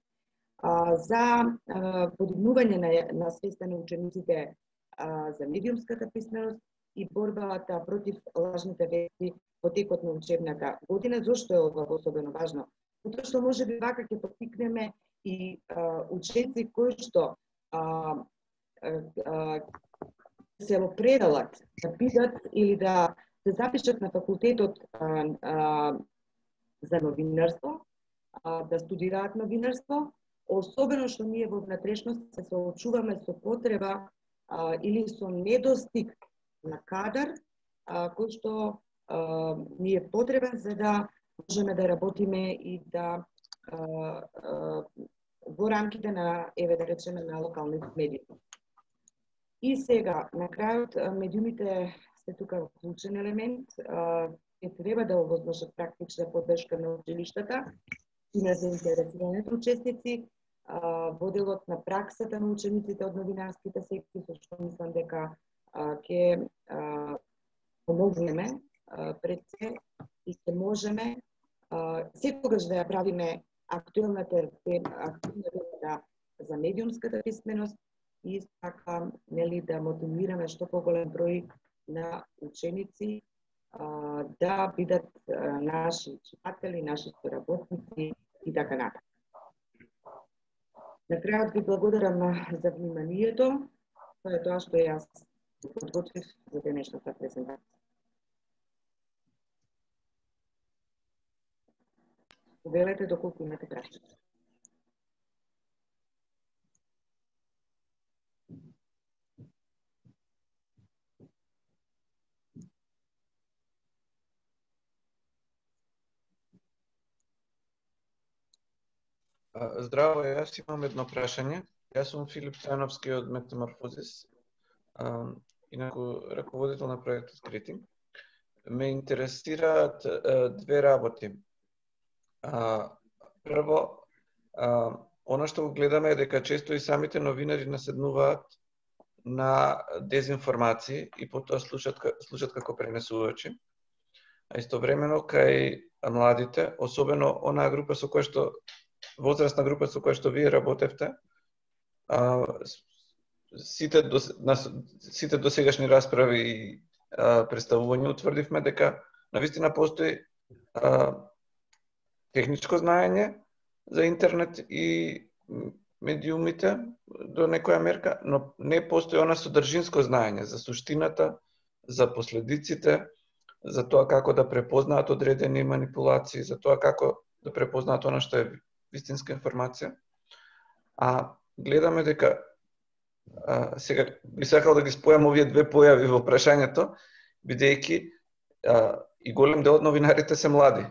а, за а, подигнување на, на свеста на учениците а, за медиумската писменост и борбата против лажните вести во текот на учебната година. Зошто е ова особено важно? Затоа што може би вака ќе поттикнеме и а, ученици кои што а, а, а, се определат да бидат или да се запишат на факултетот а, а, за новинарство, а, да студираат новинарство, особено што ние во внатрешност се соочуваме со потреба а, или со недостиг на кадар, а, кој што а, ни е потребен за да можеме да работиме и да а, а, во рамките на, еве да речеме, на локални медии. И сега, на крајот, медиумите се тука вклучен елемент, ќе треба да овозможат практична поддршка на училиштата и на заинтересираните учесници во делот на праксата на учениците од новинарските секции, со што мислам дека ќе помогнеме пред се и ќе можеме секогаш да ја правиме актуелната тема за медиумската писменост и така нели да мотивираме што поголем број на ученици а, да бидат а, наши читатели, наши соработници и така натаму. На крајот ви благодарам за вниманието. Тоа е тоа што јас подготвив за денешната презентација. Повелете доколку имате прашања. Здраво, јас имам едно прашање. Јас сум Филип Цановски од Метаморфозис, инаку раководител на проектот Критинг. Ме интересираат две работи. Прво, она што го гледаме е дека често и самите новинари наседнуваат на дезинформации и потоа слушат, слушат како пренесувачи. А истовремено кај младите, особено онаа група со која што возрастна група со која што вие работевте, а, сите до, на, сите досегашни расправи и представувања утврдивме дека навистина постои а, техничко знаење за интернет и медиумите до некоја мерка, но не постои она содржинско знаење за суштината, за последиците, за тоа како да препознаат одредени манипулации, за тоа како да препознаат она што е вистинска информација. А гледаме дека а, сега би сакал да ги спојам овие две појави во прашањето, бидејќи а, и голем дел од новинарите се млади,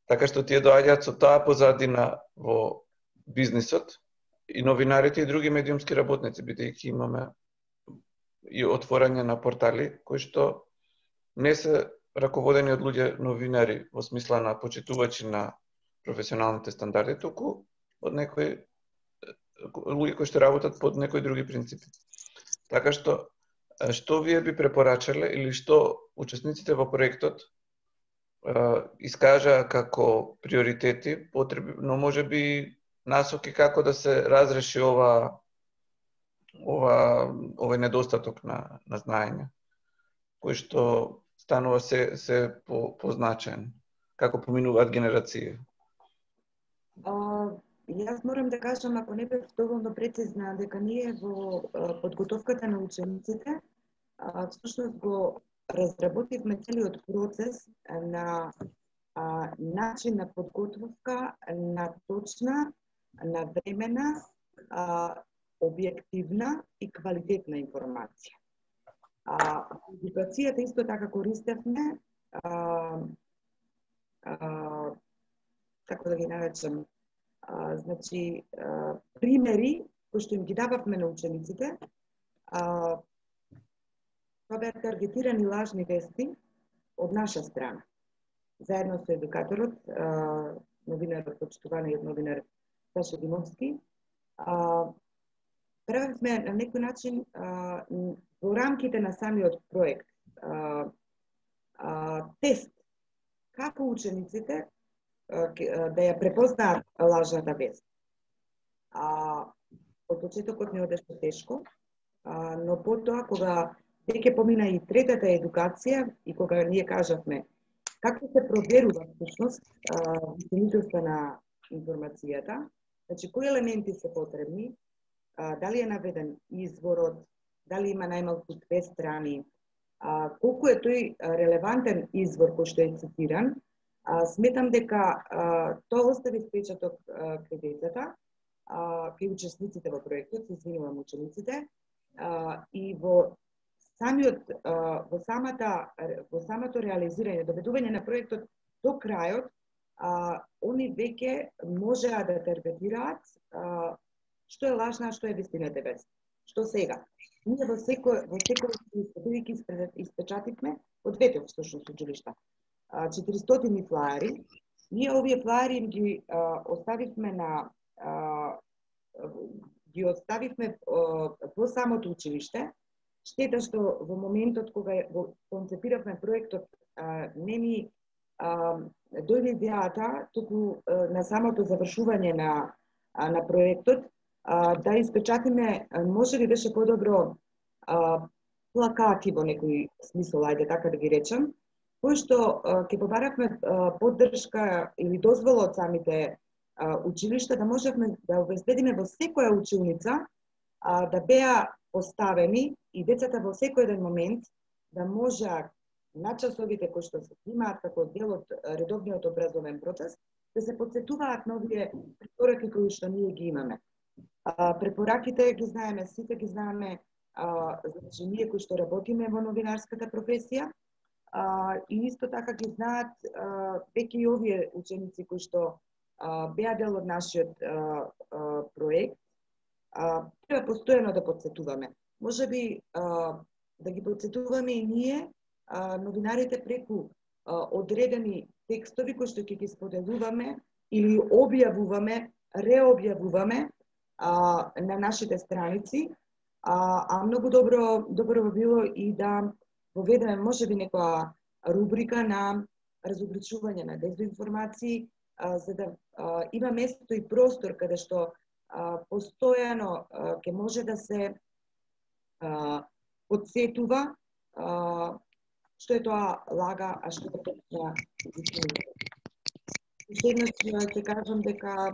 така што тие доаѓаат со таа позадина во бизнисот, и новинарите и други медиумски работници, бидејќи имаме и отворање на портали кои што не се раководени од луѓе новинари во смисла на почитувачи на професионалните стандарди, туку од некои луѓе кои што работат под некои други принципи. Така што, што вие би препорачале или што учесниците во проектот искажаа како приоритети, потреби, но може би насоки како да се разреши ова ова овој недостаток на на знаење, кој што станува се се по позначаен, како поминуваат генерации. А, јас морам да кажам, ако не бев доволно прецизна, дека ние во а, подготовката на учениците а, всушност го разработивме целиот процес на а, начин на подготовка на точна, навремена, а, објективна и квалитетна информација. А, едукацијата исто така користевме а, а, како да ги наречам, а, значи а, примери кои што им ги дававме на учениците, а, тоа беа таргетирани лажни вести од наша страна. Заедно со едукаторот, а, новинарот почитуван и новинар Саша Димовски, а, правевме на некој начин а, во рамките на самиот проект а, а, тест како учениците а, да ја препознаат лажната вест. А, од почетокот не одеше тешко, а, но потоа кога веќе помина и третата едукација и кога ние кажавме како се проверува всушност вистинитоста на информацијата, значи кои елементи се потребни, а, дали е наведен изворот, дали има најмалку две страни, а, колку е тој релевантен извор кој што е цитиран, а, сметам дека а, тоа остави впечаток кај децата, кај учесниците во проектот, се извинувам учениците, а, и во самиот во самата во самото реализирање, доведување на проектот до крајот, а, они веќе можеа да таргетираат а, што е лажна, што е вистината вест. Што сега? Ние во секој во секој бидејќи испечативме од двете всушност училишта четиристотини флаери, ние овие флаери ги а, оставивме на а, ги оставивме а, во самото училиште. Штета што во моментот кога го концепиравме проектот а, не ни а, дојде идејата, туку а, на самото завршување на, а, на проектот, а, да испечатиме, може би беше подобро а, плакати во некој смисол, ајде така да ги речем, кои што ќе побаравме поддршка или дозвола од самите а, училишта, да можевме да обезбедиме во секоја училница а, да беа поставени и децата во секој еден момент да можеа на часовите кои што се имаат како дел од редовниот образовен процес, да се подсетуваат на овие препораки кои што ние ги имаме. А, препораките ги знаеме, сите ги знаеме, а, значи ние кои што работиме во новинарската професија, а, и исто така ги знаат а, веќе и овие ученици кои што а, беа дел од нашиот а, а, проект. А, треба постојано да подсетуваме. Може би а, да ги подсетуваме и ние, а, новинарите, преку а, одредени текстови кои што ќе ги споделуваме или објавуваме, реобјавуваме а, на нашите страници, а, а многу добро добро би било и да воведеме може би некоја рубрика на разобличување на дезинформации, а, за да а, има место и простор каде што а, постојано ќе може да се а, подсетува а, што е тоа лага, а што е точна истина. Уште еднаш ќе кажам дека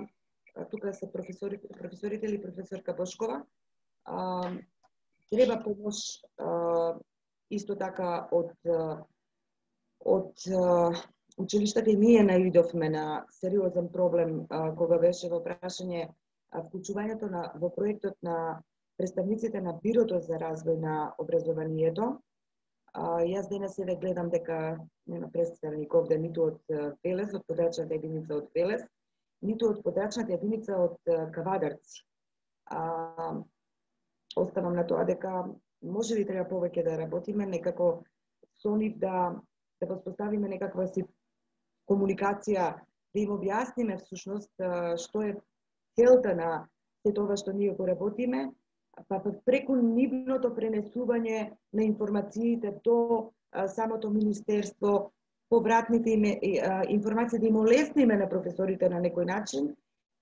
тука се професорите, професорите или професорка Бошкова, а, треба помош а, исто така од од училиштата и ние наидовме на сериозен проблем а, кога беше во прашање вклучувањето на во проектот на представниците на Бирото за развој на образованието. А, јас денес еве гледам дека нема представник овде ниту од Велес, од подрачната единица од Велес, ниту од подрачната единица од Кавадарци. А, оставам на тоа дека може би треба повеќе да работиме, некако со нив да да воспоставиме некаква си комуникација, да им објасниме всушност што е целта на се тоа што ние го работиме, па преку нивното пренесување на информациите до а, самото министерство, повратните им информации да им олесниме на професорите на некој начин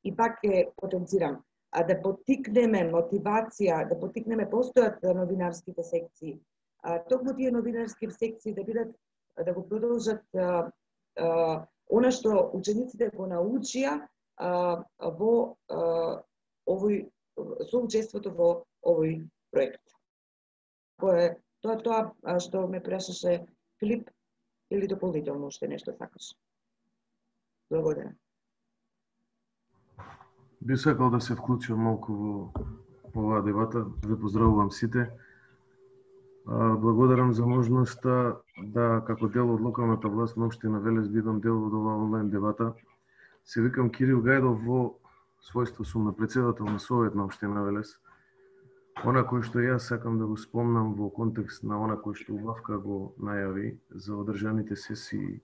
и пак ќе потенцирам, а да поттикнеме мотивација, да поттикнеме постојат новинарските секции. А, токму тие новинарски секции да бидат да го продолжат а, а, она што учениците го научија а, во а, овој соучеството во овој проект. Кој тоа тоа што ме прашаше Филип или дополнително уште нешто сакаш? Благодарам. Би сакал да се вклучам малку во оваа дебата. Ве поздравувам сите. Благодарам за можноста да, како дел од локалната власт на општина Велес, бидам дел од оваа онлайн дебата. Се викам Кирил Гајдов, во својство сум на председател на Совет на општина Велес. Она кој што јас сакам да го спомнам во контекст на она кој што Убавка го најави за одржаните сесии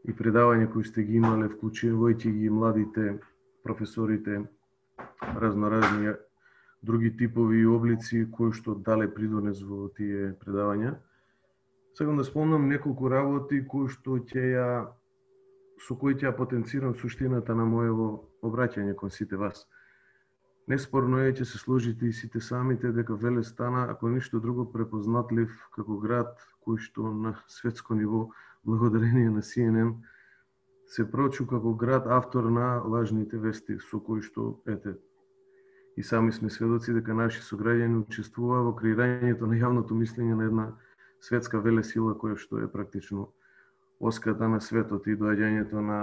и предавања кои сте ги имале, вклучувајќи ги младите, професорите, разноразни други типови и облици кои што дале придонес во тие предавања. Сакам да спомнам неколку работи кои што ќе ја со кои ќе ја потенцирам суштината на моево обраќање кон сите вас. Неспорно е, ќе се сложите и сите самите дека Велес стана, ако ништо друго, препознатлив како град кој што на светско ниво, благодарение на Си Ен Ен, се прочу како град автор на лажните вести, со кои што, ете, и сами сме сведоци дека наши сограѓани учествуваа во креирањето на јавното мислење на една светска велесила која што е практично оската на светот и доаѓањето на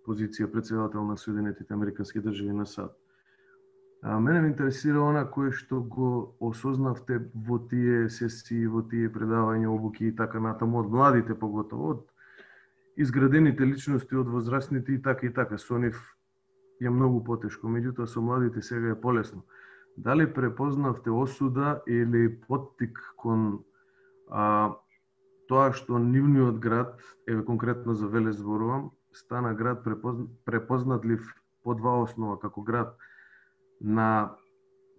позиција председател на Соединетите Американски држави на САД. А мене ме интересира она кое што го осознавте во тие сесии, во тие предавања, обуки и така натаму, од младите поготово, од изградените личности, од возрастните и така и така. Со нив е многу потешко, меѓутоа со младите сега е полесно. Дали препознавте осуда или поттик кон а, тоа што нивниот град, еве конкретно за Велес зборувам, стана град препознатлив по два основа, како град на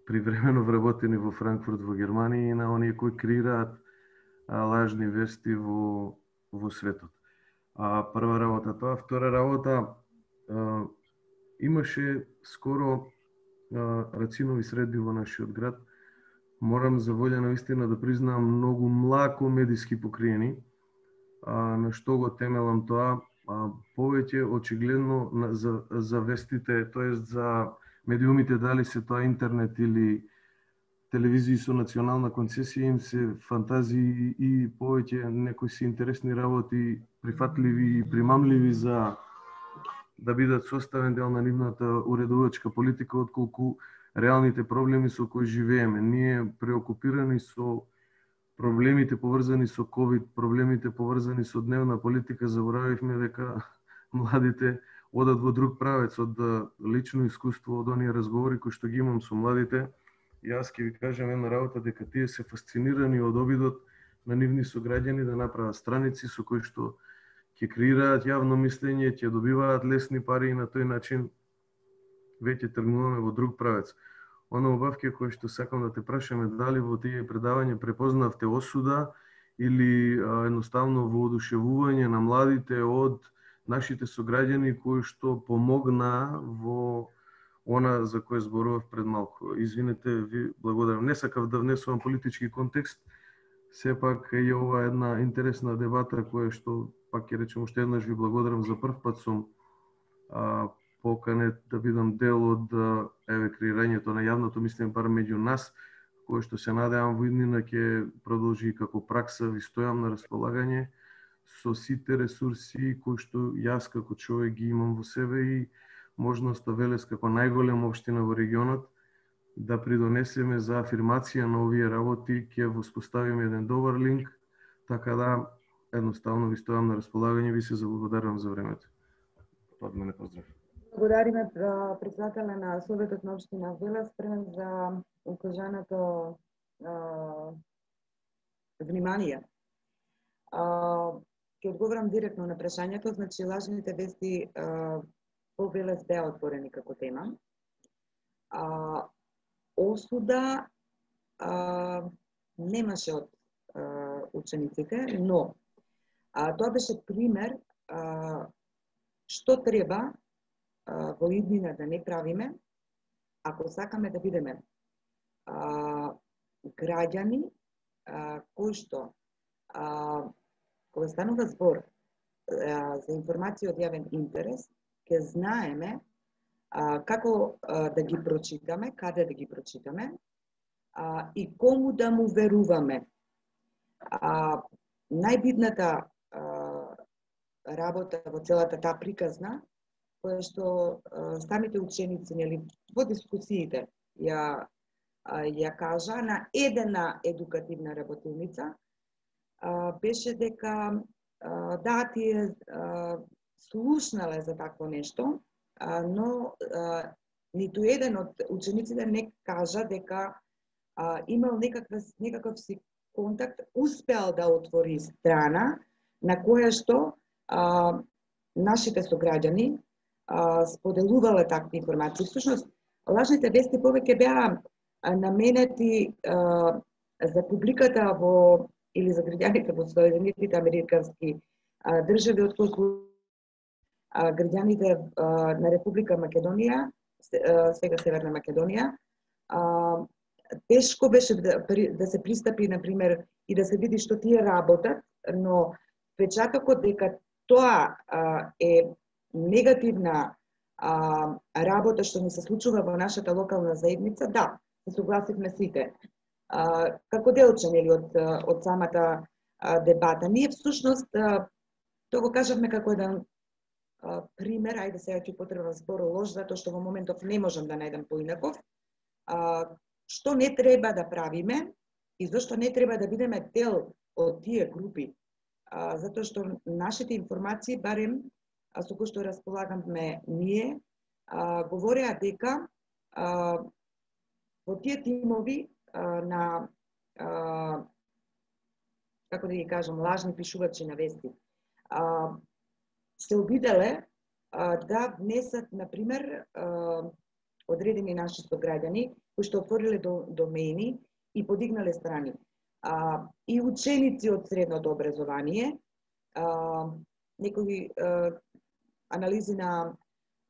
привремено вработени во Франкфурт во Германија и на оние кои креираат лажни вести во, во светот. А, прва работа тоа. Втора работа, а, имаше скоро а, рацинови средби во нашиот град. Морам за волја на вистина да признам многу млако медиски покриени, а, на што го темелам тоа, а, повеќе очигледно на, за, за вестите, тоест за медиумите, дали се тоа интернет или телевизии со национална концесија, им се фантазии и повеќе некои си интересни работи, прифатливи и примамливи за да бидат составен дел на нивната уредувачка политика, отколку реалните проблеми со кои живееме. Ние преокупирани со проблемите поврзани со ковид, проблемите поврзани со дневна политика, заборавивме дека младите одат во друг правец. Од лично искуство, од оние разговори кои што ги имам со младите, јас ќе ви кажам една работа, дека тие се фасцинирани од обидот на нивни сограѓани да направат страници со кои што ќе креираат јавно мислење, ќе добиваат лесни пари и на тој начин веќе тргнуваме во друг правец. Оно Убавке кој што сакам да те прашаме, дали во тие предавања препознавте осуда или а, едноставно воодушевување на младите од нашите сограѓани кои што помогна во она за кое зборував пред малку. Извинете, ви благодарам. Не сакав да внесувам политички контекст, сепак е ова една интересна дебата која што, пак ќе речем уште еднаш, ви благодарам. За прв пат сум а, поканет да бидам дел од еве креирањето на јавното мислење бар меѓу нас, кој што се надевам во иднина ќе продолжи како пракса, ви стојам на располагање со сите ресурси кои што јас како човек ги имам во себе и можноста Велес како најголема општина во регионот да придонесеме за афирмација на овие работи, ќе воспоставиме еден добар линк, така да едноставно ви стојам на располагање, ви се заблагодарувам за времето. Од мене поздрав. Благодариме председателя на Советот на општина Велес за укажаното внимание. Ќе одговорам директно на прашањето, значи лажните вести во Велес беа отворени како тема. А, осуда а, немаше од а, учениците, но а, тоа беше пример а, што треба а, во иднина да не правиме, ако сакаме да бидеме а, граѓани а, кои што а, кога станува збор а, за информација од јавен интерес, ќе знаеме а, како а, да ги прочитаме, каде да ги прочитаме а, и кому да му веруваме. А, најбитната а, работа во целата таа приказна, која што а, самите ученици, нели, во дискусиите ја, а, ја кажа на едена едукативна работилница, а, беше дека а, да, тие а, слушнале за такво нешто, а, но а, ниту еден од учениците не кажа дека а, имал некаква, некаков си контакт, успеал да отвори страна на која што а, нашите сограѓани а, споделувале такви информации. Всушност, лажните вести повеќе беа наменети а, за публиката во или за граѓаните во Соединетите американски а, држави, отколку а, граѓаните а, на Република Македонија, сега Северна Македонија. А, тешко беше да, да се пристапи, например, и да се види што тие работат, но печатокот дека тоа а, е негативна а, работа што ни се случува во нашата локална заедница, да, се согласивме сите. А, како делче, нели, од, од самата а, дебата. Ние всушност, а, тоа го кажавме како еден а, пример, ајде сега ќе потребам збор лош, затоа што во моментов не можам да најдам поинаков, а, што не треба да правиме и зашто не треба да бидеме дел од тие групи. А, затоа што нашите информации, барем а, со кои што располагаме ние, а, говореа дека а, во тие тимови а, на, а, како да ги кажам, лажни пишувачи на вести, а, се обиделе а, да внесат, например, а, одредени наши сограѓани кои што отвориле до, домени и подигнале страни. А, и ученици од средното образование, а, некои а, анализи на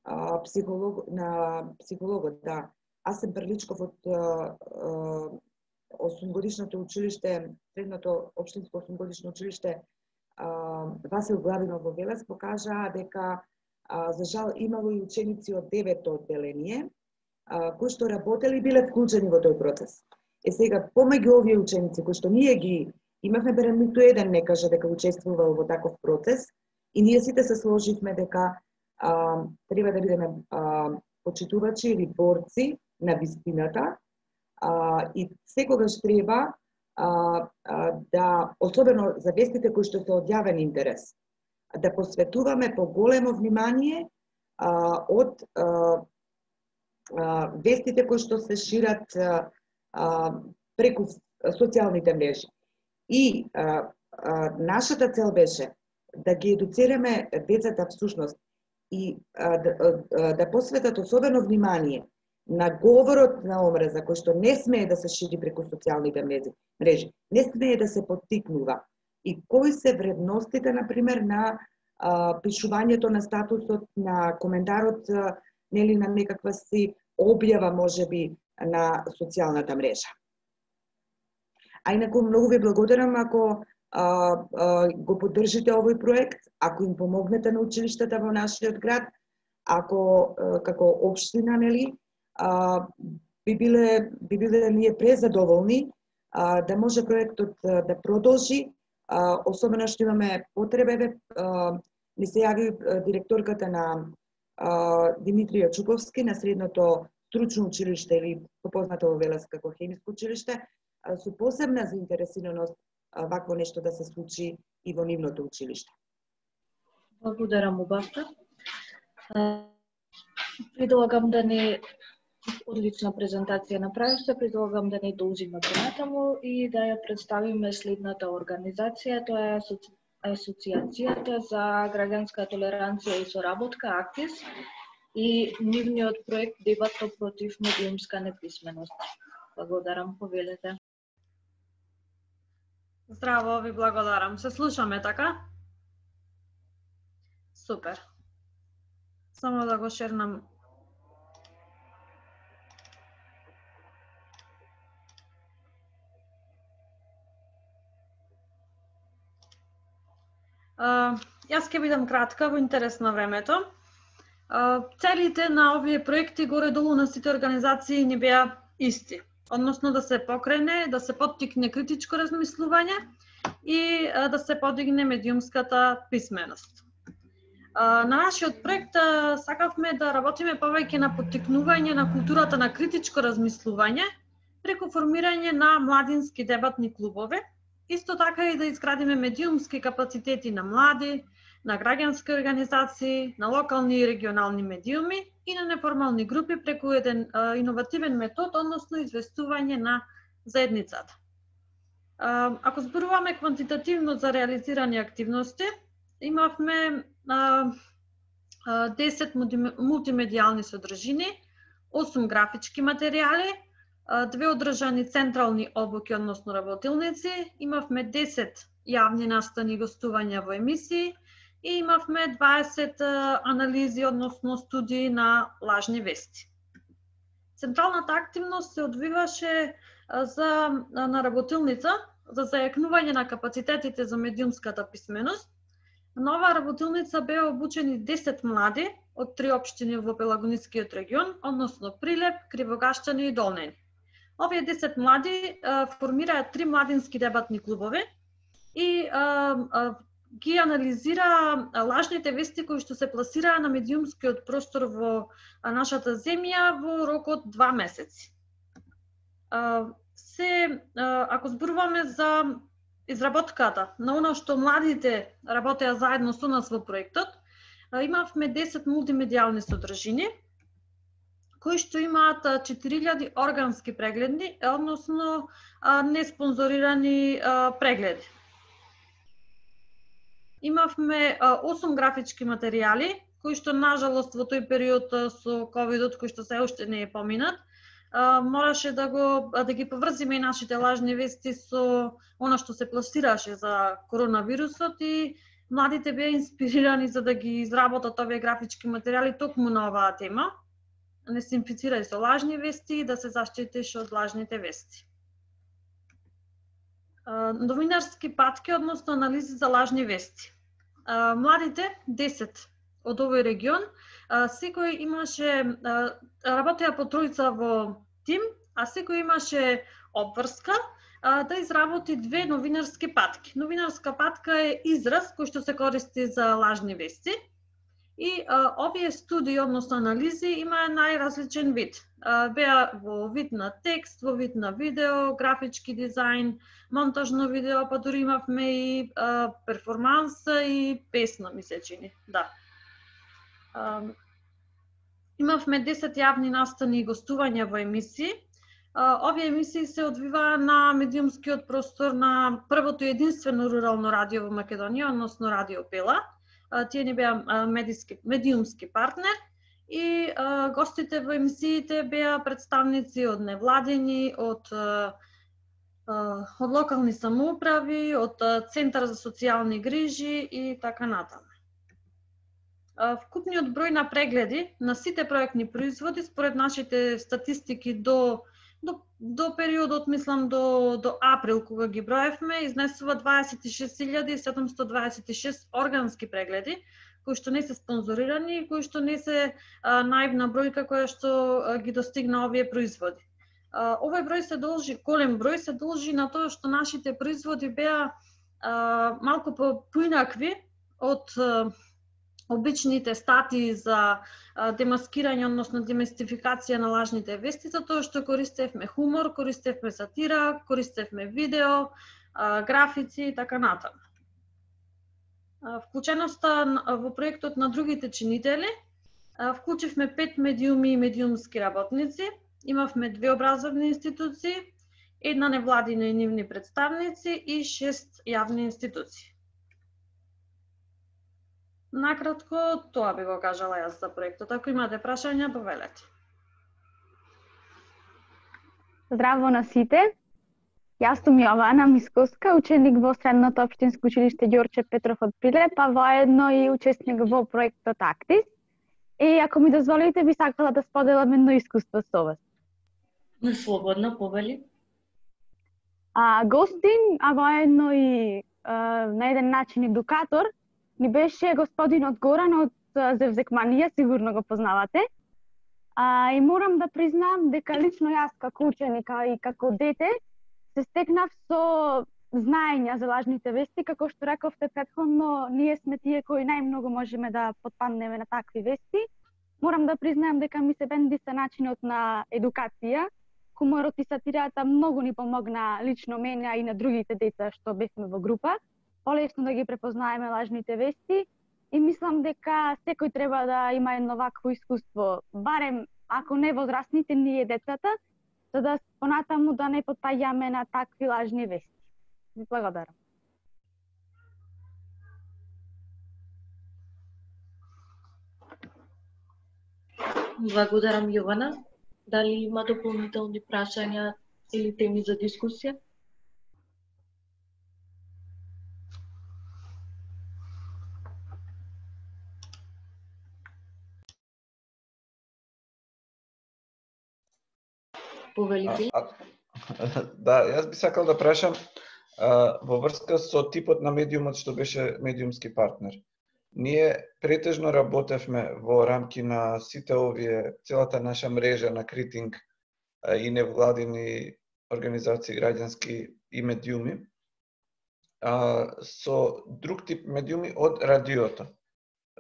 а, психолог, на психологот, да. Аз сум Прличков од осумгодишното училиште, средното општинско осумгодишно училиште Васил Главинов во Велес, покажаа дека а, за жал имало и ученици од девето одделение а, кои што работели и биле вклучени во тој процес. Е сега, помеѓу овие ученици кои што ние ги имавме, берем ниту еден не каже дека учествувал во таков процес и ние сите се сложивме дека а, треба да бидеме а, почитувачи или борци на вистината а, и секогаш треба а, а, да, особено за вестите кои што се од јавен интерес, да посветуваме поголемо внимание а, од а, а, вестите кои што се шират а, а, преку социјалните мрежи. И а, а, нашата цел беше да ги едуцираме децата всушност и а, да, а, да посветат особено внимание на говорот на омраза, кој што не смее да се шири преку социјалните мрежи, не смее да се поттикнува. И кои се вредностите, например, на а, пишувањето на статусот, на коментарот, а, нели, на некаква си објава, можеби, на социјалната мрежа. А инаку многу ви благодарам ако а, а, го поддржите овој проект, ако им помогнете на училиштата во нашиот град, ако како општина, нели, би биле би биле ние презадоволни да може проектот да продолжи, особено што имаме потреба. Ни се јави директорката на Димитрија Чуковски на средното стручно училиште или попознато во Велес како хемиско училиште, со посебна заинтересираност вакво нешто да се случи и во нивното училиште. Благодарам убавка. Предлагам да не одлична презентација направивте, предлагам да не должиме понатаму и да ја представиме следната организација, тоа е асоци... Асоциацијата за граѓанска толеранција и соработка АКТИС и нивниот проект Дебата против медиумска неписменост. Благодарам, повелете. Здраво, ви благодарам. Се слушаме, така? Супер. Само да го шернам. Uh, јас ќе бидам кратка во интерес на времето. Uh, целите на овие проекти горе-долу на сите организации не беа исти. Односно да се покрене, да се поттикне критичко размислување и uh, да се подигне медиумската писменост. Uh, на нашиот проект uh, сакавме да работиме повеќе на поттикнување на културата на критичко размислување преку формирање на младински дебатни клубови. Исто така и да изградиме медиумски капацитети на млади, на граѓански организации, на локални и регионални медиуми и на неформални групи преку еден а, иновативен метод, односно известување на заедницата. А, ако зборуваме квантитативно за реализирани активности, имавме а, а, десет мултимедијални содржини, осум графички материјали, две одржани централни обуки, односно работилници, имавме десет јавни настани и гостувања во емисии и имавме дваесет анализи, односно студии на лажни вести. Централната активност се одвиваше за, на работилница за зајакнување на капацитетите за медиумската писменост. На оваа работилница беа обучени десет млади од три општини во Пелагонискиот регион, односно Прилеп, Кривогашчани и Долнени. Овие десет млади а, формираат три младински дебатни клубови и а, а, ги анализира лажните вести кои што се пласираа на медиумскиот простор во а, нашата земја во рок од два месеци. А, се, а, ако зборуваме за изработката на оно што младите работеа заедно со нас во проектот, а, имавме десет мултимедијални содржини, кои што имаат четири илјади органски прегледи, односно неспонзорирани прегледи. Имавме осум графички материјали, кои што нажалост во тој период со ковидот, кој што се уште не е поминат, мораше да го да ги поврзиме и нашите лажни вести со она што се пласираше за коронавирусот и младите беа инспирирани за да ги изработат овие графички материјали токму на оваа тема. Не се инфицирај со лажни вести и да се заштитиш од лажните вести. Новинарски патки, односно анализи за лажни вести. Младите, десет од овој регион, секој имаше, работеа по тројца во тим, а секој имаше обврска да изработи две новинарски патки. Новинарска патка е израз кој што се користи за лажни вести. И а, овие студии, односно анализи, има најразличен вид. А, беа во вид на текст, во вид на видео, графички дизајн, монтажно видео, па дури имавме и а, перформанс и песна, ми се чини. Да. А, имавме десет јавни настани и гостувања во емисии. А, овие емисии се одвиваа на медиумскиот простор на првото единствено рурално радио во Македонија, односно Радио Пела. Тие не беа медиски, медиумски партнер и а, гостите во емисиите беа представници од невладени, од, а, од локални самоуправи, од Центар за социјални грижи и така натаму. Вкупниот број на прегледи на сите проектни производи според нашите статистики до до, до периодот, мислам, до, до април, кога ги броевме, изнесува дваесет и шест илјади седумстотини дваесет и шест органски прегледи, кои што не се спонзорирани и кои што не се а, наивна бројка која што а, ги достигна овие производи. А, овој број се должи, голем број се должи на тоа што нашите производи беа а, малку поинакви од а, обичните статии за а, демаскирање, односно демистификација на лажните вести, за тоа што користевме хумор, користевме сатира, користевме видео, а, графици и така натаму. Вклученоста во проектот на другите чинители, вклучивме пет медиуми и медиумски работници, имавме две образовни институции, една невладина и нивни представници и шест јавни институции. Накратко, тоа би го кажала јас за проектот. Ако имате прашања, повелете. Здраво на сите! Јас сум Јована Мисковска, ученик во Средното општинско училиште Ѓорче Петров од Прилеп, а воедно и учесник во проектот Актис. И ако ми дозволите, би сакала да споделам едно искуство со вас. Слободно, повели. А, гостин, а воедно и а, на еден начин едукатор, ни беше господинот Горан од Зевзекманија, сигурно го познавате. А, и морам да признам дека лично јас како ученика и како дете се стекнав со знаења за лажните вести, како што рековте претходно, ние сме тие кои најмногу можеме да потпаднеме на такви вести. Морам да признаем дека ми се бендиса начинот на едукација. Хуморот и сатирата многу ни помогна лично мене и на другите деца што бевме во група. Полесно да ги препознаеме лажните вести и мислам дека секој треба да има едно вакво искуство, барем ако не возрастните, ние децата, за да понатаму да не потпаѓаме на такви лажни вести. Ви благодарам. Благодарам, Јована. Дали има дополнителни прашања или теми за дискусија? Повелите? Да, јас би сакал да прашам а, во врска со типот на медиумот што беше медиумски партнер. Ние претежно работевме во рамки на сите овие, целата наша мрежа на критинг а, и невладини организации граѓански и медиуми, а, со друг тип медиуми од радиото.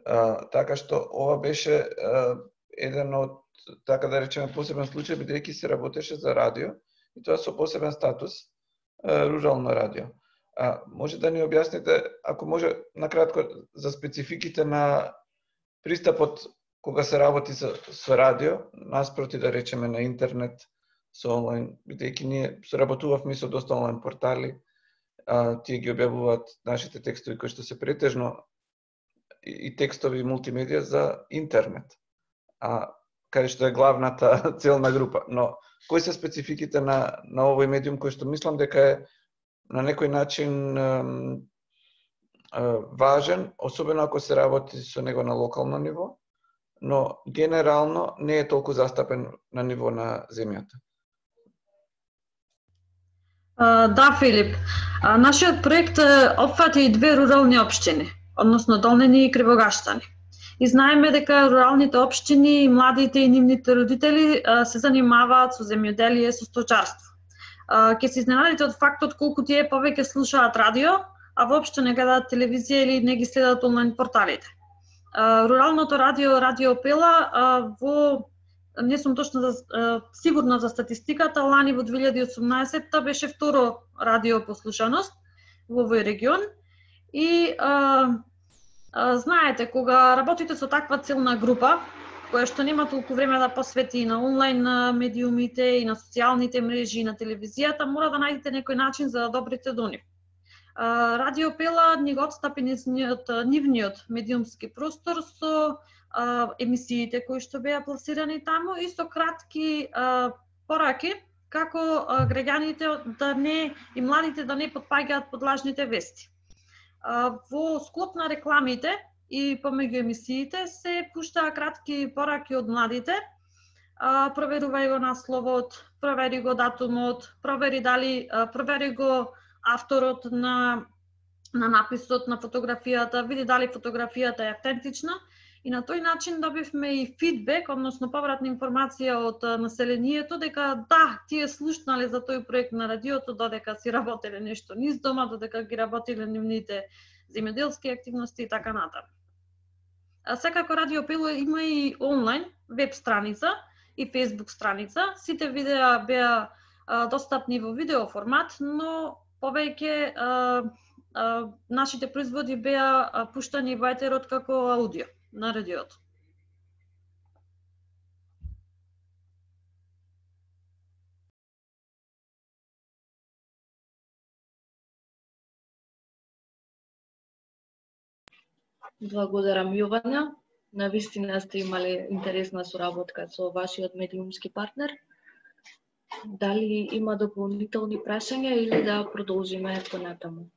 А, така што ова беше а, еден од, така да речеме, посебен случај, бидејќи се работеше за радио, и тоа со посебен статус, рурално радио. А, може да ни објасните, ако може, накратко, за спецификите на пристапот кога се работи со, со радио, наспроти да речеме на интернет, со онлайн, бидејќи ние соработувавме со доста онлайн портали, а, тие ги објавуваат нашите текстови кои што се претежно и, и текстови и мултимедија за интернет. А каде што е главната целна група. Но кои се спецификите на, на овој медиум кој што мислам дека е на некој начин е, е, важен, особено ако се работи со него на локално ниво, но генерално не е толку застапен на ниво на земјата. Uh, да, Филип. Uh, нашиот проект uh, опфати и две рурални општини, односно Долнени и Кривогаштани. И знаеме дека руралните општини, младите и нивните родители uh, се занимаваат со земјоделие, со сточарство. Uh, ке се изненадите од фактот колку тие повеќе слушаат радио, а воопшто не гледаат телевизија или не ги следат онлайн порталите. Uh, руралното радио, Радио Пела, uh, во не сум точно за, uh, сигурна за статистиката, лани во две илјади и осумнаесетта беше второ радио по слушаност во овој регион. И uh, uh, знаете, кога работите со таква целна група, која што нема толку време да посвети и на онлайн медиумите, и на социјалните мрежи, и на телевизијата, мора да најдете некој начин за да добрите до нив. Uh, Радио Пела ни го отстапи нивниот медиумски простор со Uh, емисиите кои што беа пласирани таму и со кратки uh, пораки како uh, граѓаните да не и младите да не потпаѓаат под лажните вести. Uh, во склоп на рекламите и помеѓу емисиите се пуштаа кратки пораки од младите. Uh, проверувај го насловот, провери го датумот, провери дали провери го авторот на на написот на фотографијата, види дали фотографијата е автентична и на тој начин добивме и фидбек, односно повратна информација од населението дека да, тие слушнале за тој проект на радиото додека си работеле нешто низ дома, додека ги работеле нивните земјоделски активности и така натаму. А секако Радио Пило има и онлайн веб страница и Facebook страница. Сите видеа беа а, достапни во видео формат, но повеќе а, а, нашите производи беа а, пуштани во етерот како аудио на радиото. Благодарам, Јована. Навистина сте имале интересна соработка со вашиот медиумски партнер. Дали има дополнителни прашања или да продолжиме понатаму?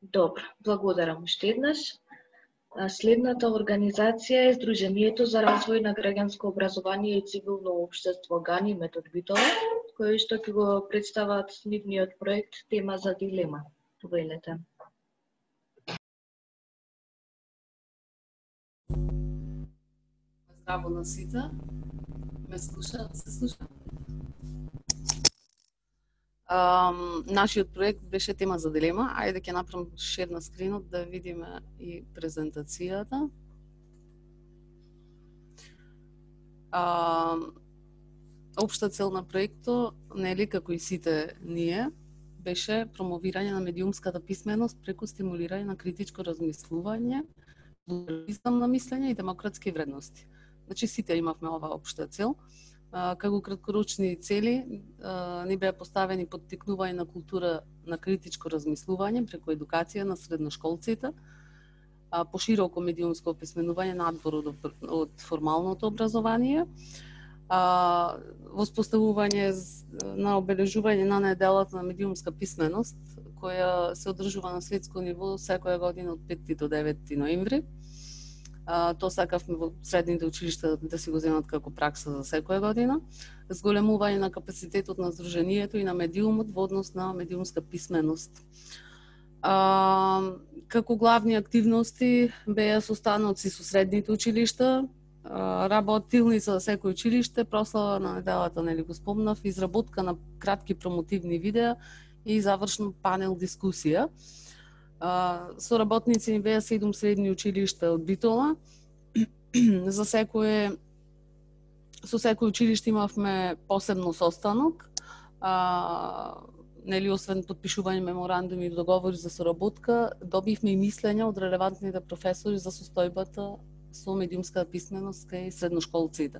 Добро, благодарам уште еднаш. Следната организација е Сдруженијето за развој на граѓанско образование и цивилно општество Гани метод Битола, кои што ќе го представат нивниот проект Тема за дилема. Повелете. Здраво на сите. Ме слуша? Се слуша? Um, нашиот проект беше Тема за дилема. Ајде ќе направам шер на скринот да видиме и презентацијата. Uh, Обшта цел на проектот, нели како и сите ние, беше промовирање на медиумската писменост преку стимулирање на критичко размислување, плурализам на мислење и демократски вредности. Значи сите имавме оваа општа цел. Како краткорочни цели ни беа поставени поттикнување на култура на критичко размислување преку едукација на средношколците, пошироко медиумско описменување надвор од, од формалното образование, воспоставување на обележување на неделата на медиумска писменост, која се одржува на светско ниво секоја година од петти до деветти ноември. Тоа сакавме во средните училишта да си го земат како пракса за секоја година. Зголемување на капацитетот на Сдруженијето и на медиумот во однос на медиумска писменост. А, како главни активности беа состаноци со средните училишта, работилница за секој училиште, прослава на неделата, нели го спомнав, изработка на кратки промотивни видеа и завршно панел дискусија. Со работници ни беа седум средни училишта од Битола. За секое со секој училиште имавме посебно состанок. А, нели освен подпишување меморандуми и договори за соработка, добивме и мислења од релевантните професори за состојбата со медиумска писменост кај средношколците.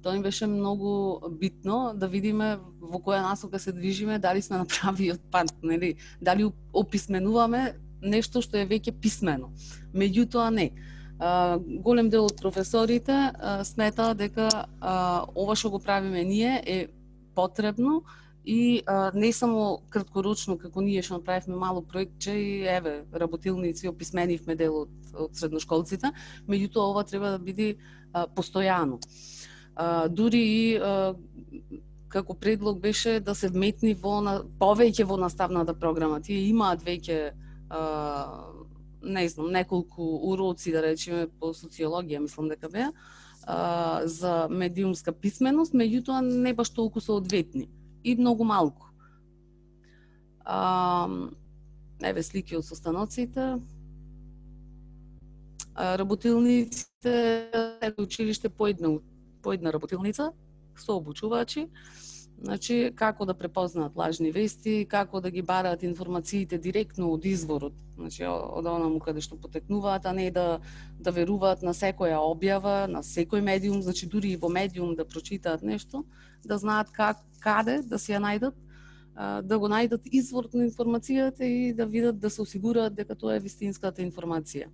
Тоа ни беше многу битно да видиме во која насока се движиме, дали сме направиот пат, нели, дали описменуваме нешто што е веќе писмено. Меѓутоа не. А, голем дел од професорите а, смета дека а, ова што го правиме ние е потребно и а, не само краткорочно како ние што направивме мало проектче и еве работилници описменивме дел од, од средношколците, меѓутоа ова треба да биде а, постојано. А, дури и а, како предлог беше да се вметни во на, повеќе во наставната програма. Тие имаат веќе Uh, не знам, неколку уроци, да речеме, по социологија, мислам дека беа, uh, за медиумска писменост, меѓутоа не баш толку соодветни и многу малку. Uh, еве слики од состаноците. Uh, работилниците, секој училиште по една, по една работилница со обучувачи. Значи, како да препознаат лажни вести, како да ги бараат информациите директно од изворот, значи, од онаму каде што потекнуваат, а не да, да веруваат на секоја објава, на секој медиум, значи дури и во медиум да прочитаат нешто, да знаат как, каде да си ја најдат, да го најдат изворот на информацијата и да видат, да се осигураат дека тоа е вистинската информација.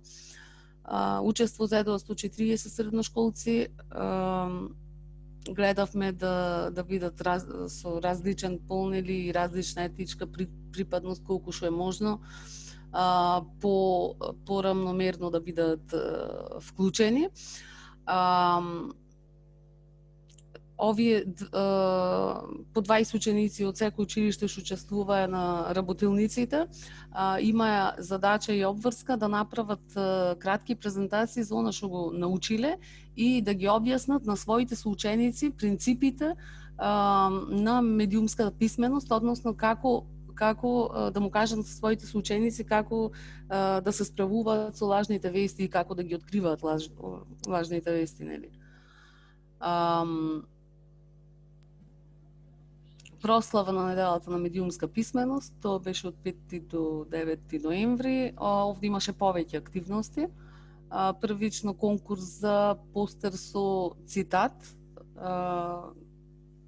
Учество зедоа сто и триесет средношколци, гледавме да да бидат раз, со различен пол или различна етничка при, припадност колку што е можно, а, по порамномерно да бидат а, вклучени. А, овие по дваесет ученици од секој училиште што учествуваа на работилниците, имаа задача и обврска да направат кратки презентации за она што го научиле и да ги објаснат на своите соученици принципите на медиумската писменост, односно како како да му кажат на своите соученици како да се справуваат со лажните вести и како да ги откриваат лаж, лажните вести, нели? Прослава на неделата на медиумска писменост, тоа беше од петти до деветти ноември. Овде имаше повеќе активности. Првично конкурс за постер со цитат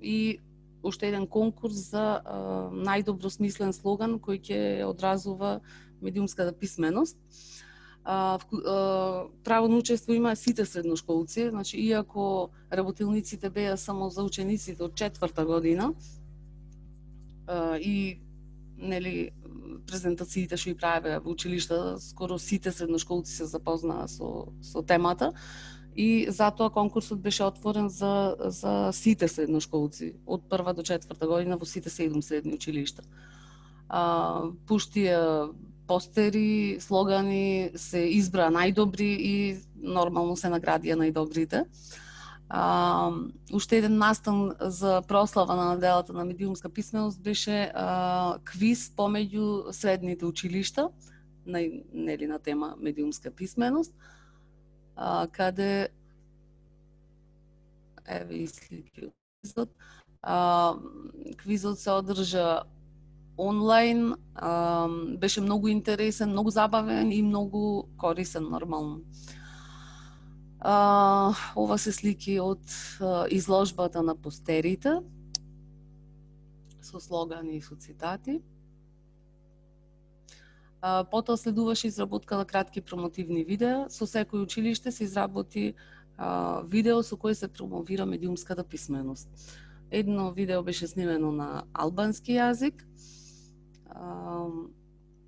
и уште еден конкурс за најдобро смислен слоган кој ќе одразува медиумската писменост. Право на учество има сите средношколци, значи иако работилниците беа само за учениците од четврта година, и нели презентациите што ги правеа во училишта, скоро сите средношколци се запознаа со со темата и затоа конкурсот беше отворен за за сите средношколци од прва до четврта година во сите седум средни училишта. А, пуштија постери, слогани се избраа најдобри и нормално се наградија најдобрите. А, уште еден настан за прослава на неделата на медиумска писменост беше а, квиз помеѓу средните училишта на, нели, на тема медиумска писменост, а, каде еве и слики од квизот. А, квизот се одржа онлайн, а, беше многу интересен, многу забавен и многу корисен нормално. Uh, ова се слики од uh, изложбата на постерите со слогани и со цитати. Uh, потоа следуваше изработка на кратки промотивни видеа. Со секој училиште се изработи uh, видео со кој се промовира медиумската писменост. Едно видео беше снимено на албански јазик. Uh,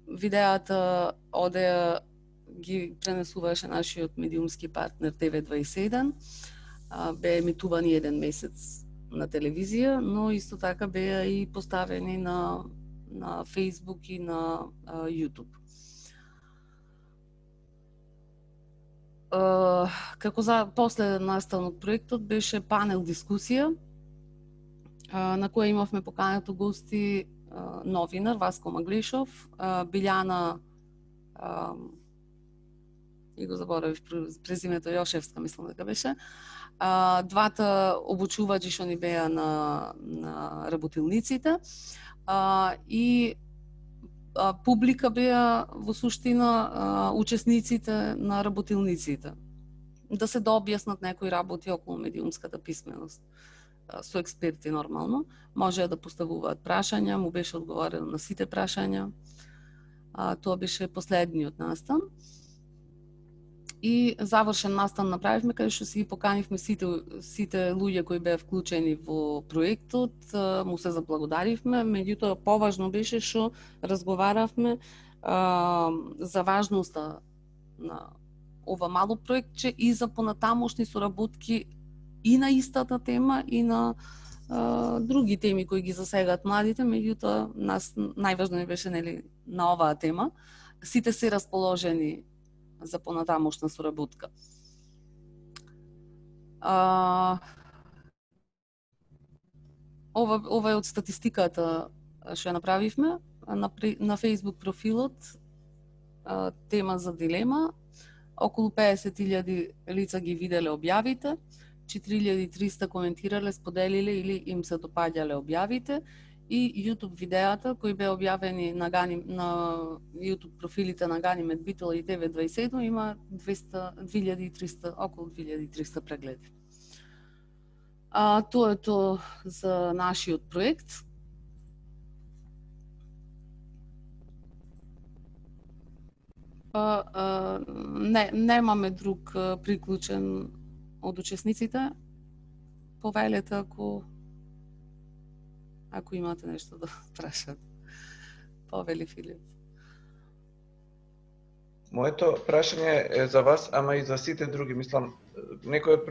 видеата одеа ги пренесуваше нашиот медиумски партнер Т В дваесет и еден. Беа емитувани еден месец на телевизија, но исто така беа и поставени на, на Facebook и на а, YouTube. А, како за последен настан од проектот беше панел дискусија, а, на која имавме покането гости а, новинар Васко Маглишов, а, Билјана а, и го заборавив презимето, Јошевска, мислам дека беше. А, двата обучувачи што ни беа на, на работилниците а, и а, публика беа во суштина а, учесниците на работилниците. Да се дообјаснат некои работи околу медиумската писменост а, со експерти нормално. Можеа да поставуваат прашања, му беше одговорено на сите прашања. А, тоа беше последниот настан. И завршен настан направивме каде што си поканивме сите сите луѓе кои беа вклучени во проектот, му се заблагодаривме, меѓутоа поважно беше што разговаравме а, за важноста на ова мало проектче и за понатамошни соработки и на истата тема и на а, други теми кои ги засегаат младите, меѓутоа нас најважно ни беше, нели, на оваа тема. Сите се расположени за понатамошна соработка. А, ова, ова е од статистиката што ја направивме на, на Facebook профилот, а, тема за дилема. Околу песет илјади лица ги виделе објавите, четири илјади и триста коментирале, споделиле или им се допаѓале објавите, и YouTube видеата кои беа објавени на, Гани, на YouTube профилите на Ганимед Битола и Т В дваесет и еден има две илјади и триста, околу две илјади и триста прегледи. А, тоа е тоа за нашиот проект. А, а, не, немаме друг а, приклучен од учесниците. Повелете ако Ако имате нешто да прашате. Повели Филип. Моето прашање е за вас, ама и за сите други. Мислам, некои од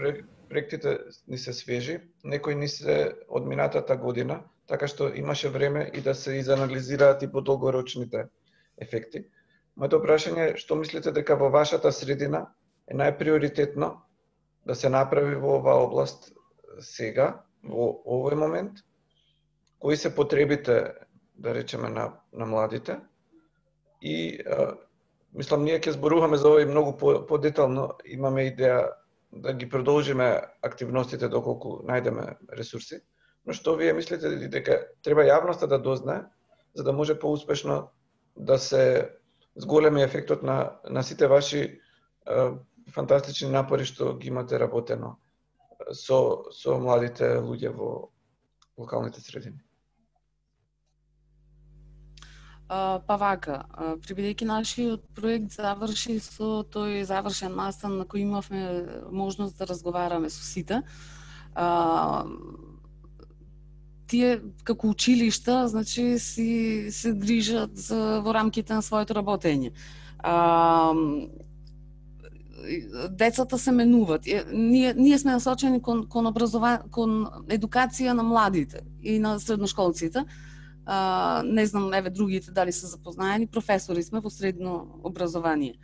проектите ни се свежи, некои ни се од минатата година, така што имаше време и да се изанализираат и подолгорочните ефекти. Моето прашање е, што мислите дека во вашата средина е најприоритетно да се направи во оваа област сега, во овој момент? Кои се потребите, да речеме, на, на младите? И а, мислам, ние ќе зборуваме за ова и многу подетално, имаме идеја да ги продолжиме активностите доколку најдеме ресурси. Но што вие мислите дека треба јавноста да дознае, за да може поуспешно да се зголеми ефектот на, на сите ваши е, фантастични напори што ги имате работено со, со младите луѓе во локалните средини? Uh, па вака, uh, прибедејќи нашиот проект заврши со тој завршен настан на кој имавме можност да разговараме со сите, uh, тие како училишта, значи си се грижат за во рамките на своето работење. Uh, децата се менуваат. Ние ние сме насочени кон кон образова кон едукација на младите и на средношколците. Uh, не знам, еве другите дали се запознаени, професори сме во средно образование.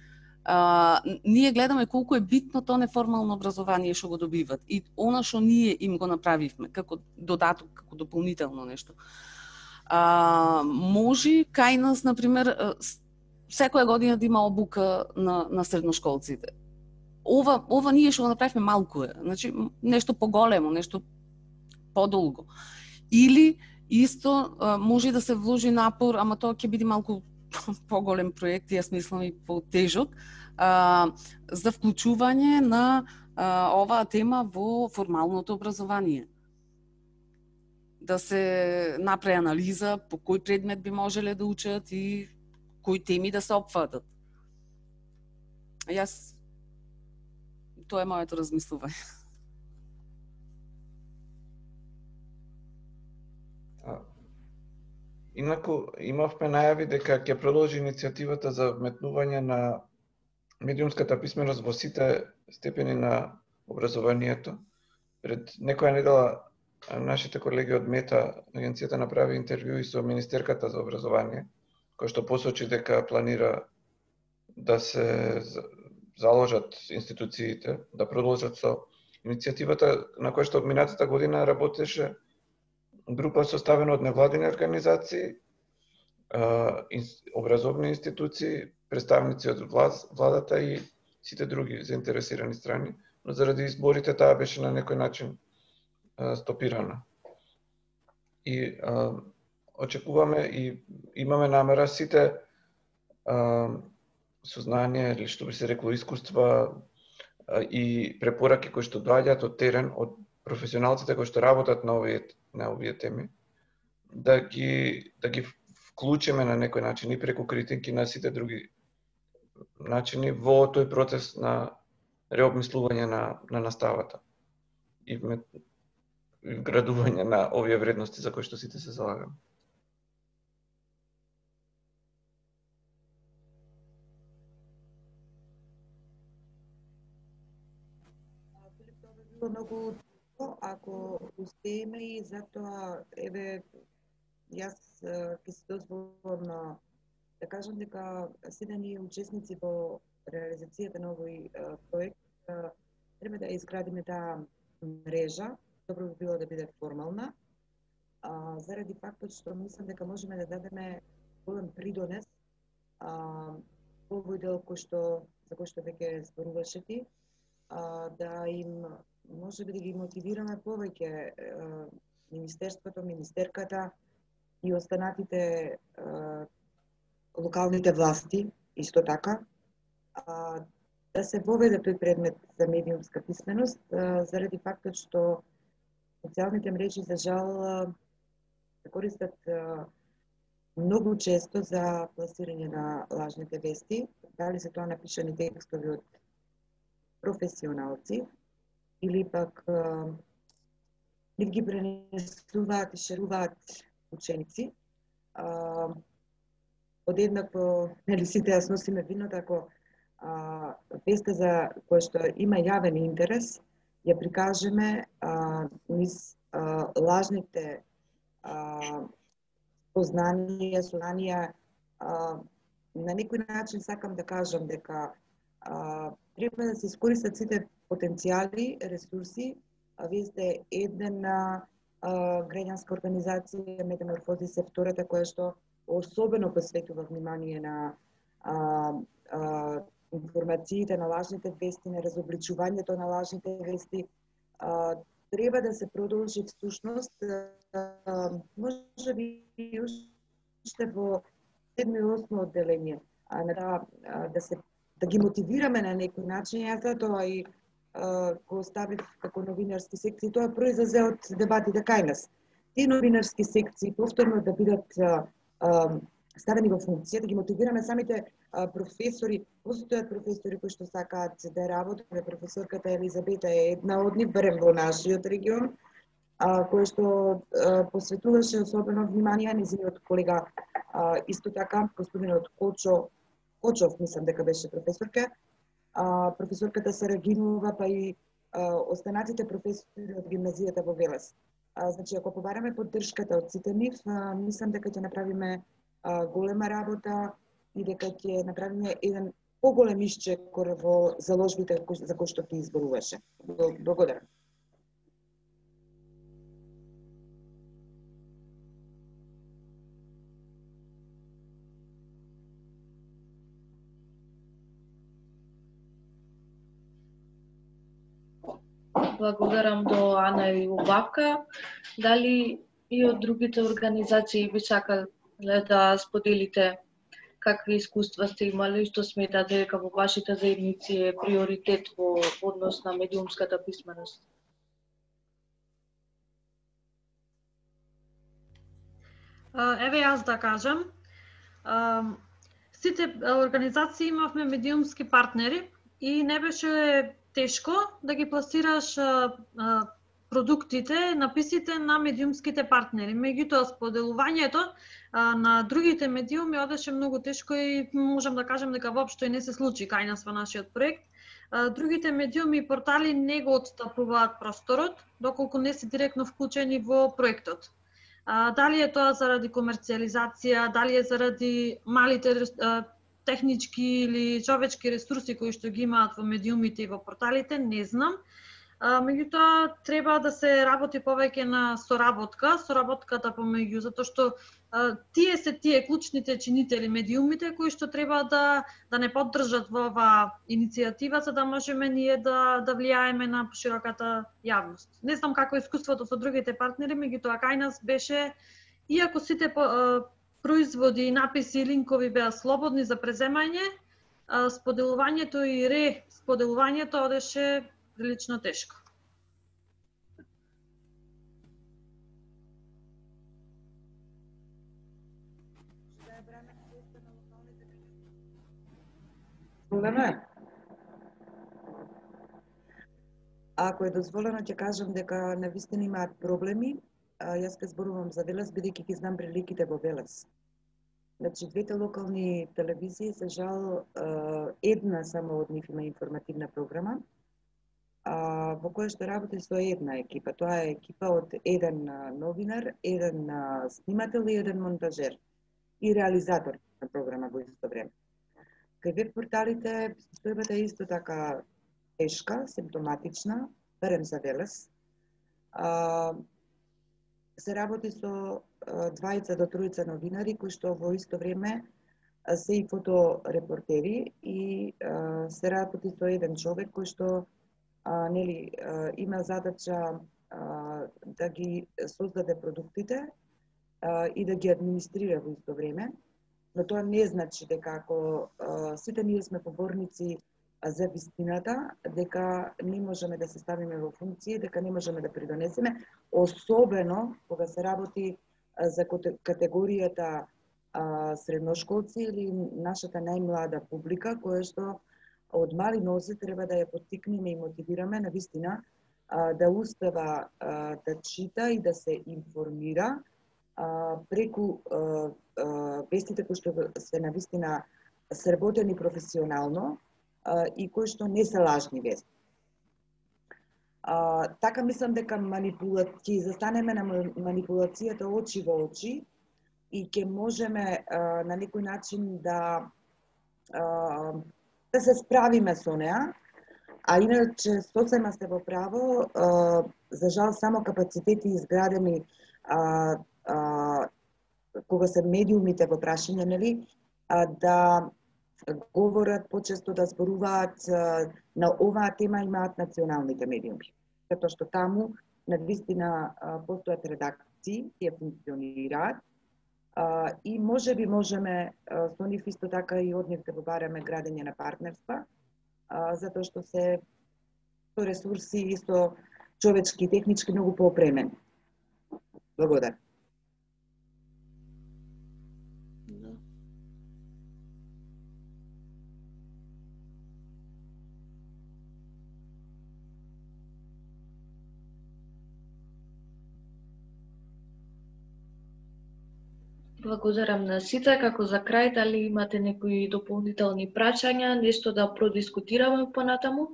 Uh, ние гледаме колку е битно то неформално образование што го добиват и она што ние им го направивме како додаток, како дополнително нешто. Uh, може кај нас, например, секоја година да има обука на, на средношколците. Ова, ова ние што го направивме малку е, значи нешто поголемо, нешто подолго. Или исто може да се вложи напор, ама тоа ќе биде малку поголем проект, јас мислам и потежок, за вклучување на а, оваа тема во формалното образование. Да се направи анализа по кој предмет би можеле да учат и кои теми да се опфатат. Јас тоа е моето размислување. Инаку, имавме најави дека ќе продолжи иницијативата за вметнување на медиумската писменост во сите степени на образованието. Пред некоја недела нашите колеги од Мета, агенцијата, направи интервју и со Министерката за образование, кој што посочи дека планира да се заложат институциите, да продолжат со иницијативата на која што минатата година работеше група составена од невладини организации, образовни институции, представници од владата и сите други заинтересирани страни, но заради изборите таа беше на некој начин стопирана. И а, очекуваме и имаме намера сите а, сознание, или што би се рекло искуства а, и препораки кои што доаѓаат од терен, од професионалците кои што работат на овие на овие теми, да ги да ги вклучиме на некој начин и преку критики на сите други начини во тој процес на реобмислување на на наставата и вградување на овие вредности за кои што сите се залагаме. Многу ако успееме и затоа еве јас ќе се дозволам да кажам дека сите ние учесници во реализацијата на овој проект треба да изградиме таа мрежа. Добро би било да биде формална, а, заради фактот што мислам дека можеме да дадеме голем придонес а, во овој дел кој што за кој што веќе зборуваше ти, а, да им може би да ги мотивираме повеќе Министерството, Министерката и останатите а, локалните власти, исто така, а, да се воведе тој предмет за медиумска писменост, а, заради фактот што социјалните мрежи, за жал, се користат а, многу често за пласирање на лажните вести, дали се тоа напишани текстови од професионалци, или пак нив ги пренесуваат и шеруваат ученици. А, одеднакво, нели сите ја сносиме виното, ако веста за која што има јавен интерес, ја прикажеме а, низ а, лажните а, познанија, сознанија. А, на некој начин сакам да кажам дека а, треба да се искористат сите потенцијали, ресурси. А вие сте една граѓанска организација, Метаморфозис е втората, која што особено посветува внимание на а, а, информациите, на лажните вести, на разобличувањето на лажните вести. А, треба да се продолжи всушност, а, може би уште во седмо и осмо одделение, а, да, а, да се да ги мотивираме на некој начин. Јас затоа и а, го оставив како новинарски секции. Тоа произлезе од дебатите кај нас. Тие новинарски секции повторно да бидат а, а, ставени во функција, да ги мотивираме самите а, професори. Постојат професори кои што сакаат да работат. Професорката Елизабета е една од нив, барем во нашиот регион, а, која што а, посветуваше особено внимание. Незиниот колега а, исто така, господинот Кочо Кочов, мислам дека беше професорка, а, професорката Сарагинова, па и а, останатите професори од гимназијата во Велес. А, значи, ако побараме поддршката од сите нив, а, мислам дека ќе направиме а, голема работа и дека ќе направиме еден поголем исчекор во заложбите за кои што ти изборуваше. Благодарам. Благодарам до Ана и Убавка. Дали и од другите организации би сакале да споделите какви искуства сте имали и што сметате дека во вашите заедници е приоритет во однос на медиумската писменост? Еве јас да кажам. Сите организации имавме медиумски партнери и не беше тешко да ги пласираш а, а, продуктите, написите на медиумските партнери. Меѓутоа, споделувањето а, на другите медиуми одеше многу тешко и можам да кажам дека воопшто и не се случи кај нас во нашиот проект. А, другите медиуми и портали не го отстапуваат просторот, доколку не се директно вклучени во проектот. А, дали е тоа заради комерцијализација, дали е заради малите а, технички или човечки ресурси кои што ги имаат во медиумите и во порталите, не знам. А, меѓутоа, треба да се работи повеќе на соработка, соработката помеѓу, затоа што а, тие се тие клучните чинители медиумите кои што треба да да не поддржат во оваа иницијатива, за да можеме ние да да влијаеме на широката јавност. Не знам како е искуството со другите партнери, меѓутоа кај нас беше, иако сите по, производи и написи и линкови беа слободни за преземање, споделувањето и ре споделувањето одеше прилично тешко. Ако е дозволено, ќе кажам дека навистина имаат проблеми. Јас ке зборувам за Велес, бидејќи ги знам приликите во Велес. Значи, двете локални телевизии, за жал, една само од нив има информативна програма, во која што работи со една екипа. Тоа е екипа од еден новинар, еден снимател и еден монтажер и реализатор на програма во исто време. Кај веб порталите состојбата е исто така тешка, симптоматична, барем за Велес. Се работи со двајца до тројца новинари кои што во исто време се и фоторепортери и а, се работи со еден човек кој што а, нели а, има задача а, да ги создаде продуктите а, и да ги администрира во исто време, но тоа не значи дека ако а, сите ние сме поборници за вистината, дека не можеме да се ставиме во функција, дека не можеме да придонесеме, особено кога се работи за категоријата а, средношколци или нашата најмлада публика, која што од мали нозе треба да ја поттикнеме и мотивираме на вистина а, да успева а, да чита и да се информира а, преку а, а, вестите кои што се на вистина сработени професионално, а, и кои што не се лажни вести. А, така мислам дека манипула... ќе застанеме на манипулацијата очи во очи и ќе можеме а, на некој начин да а, да се справиме со неа. А иначе сосема сте во право, а, за жал само капацитети изградени а, а, кога се медиумите во прашање, нели, а, да говорат почесто, да зборуваат а, на оваа тема имаат националните медиуми. Затоа што таму навистина постојат редакции, тие функционираат а, и може би можеме а, со нив исто така и од нив да побараме градење на партнерства, а, затоа што се со ресурси и со човечки и технички многу поопремени. Благодарам. Благодарам на сите. Како за крај, дали имате некои дополнителни прашања, нешто да продискутираме понатаму?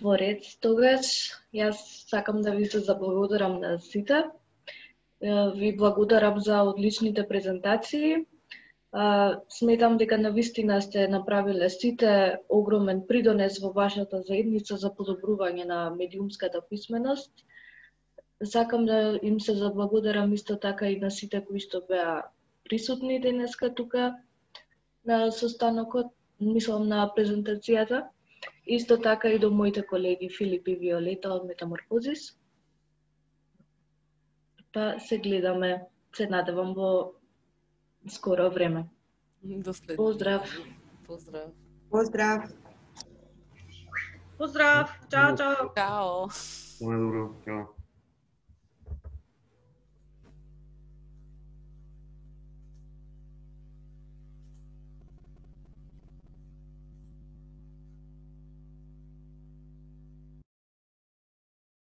Во ред, тогаш, јас сакам да ви се заблагодарам на сите. Ви благодарам за одличните презентации. Сметам дека навистина сте направиле сите огромен придонес во вашата заедница за подобрување на медиумската писменост. Сакам да им се заблагодарам исто така и на сите кои што беа присутни денеска тука на состанокот, мислам на презентацијата. Исто така и до моите колеги Филип и Виолета од Метаморфозис. Па се гледаме, се надевам во скоро време. До следно. Поздрав. Поздрав. Поздрав. Поздрав. Чао, чао. Чао. Добро, чао.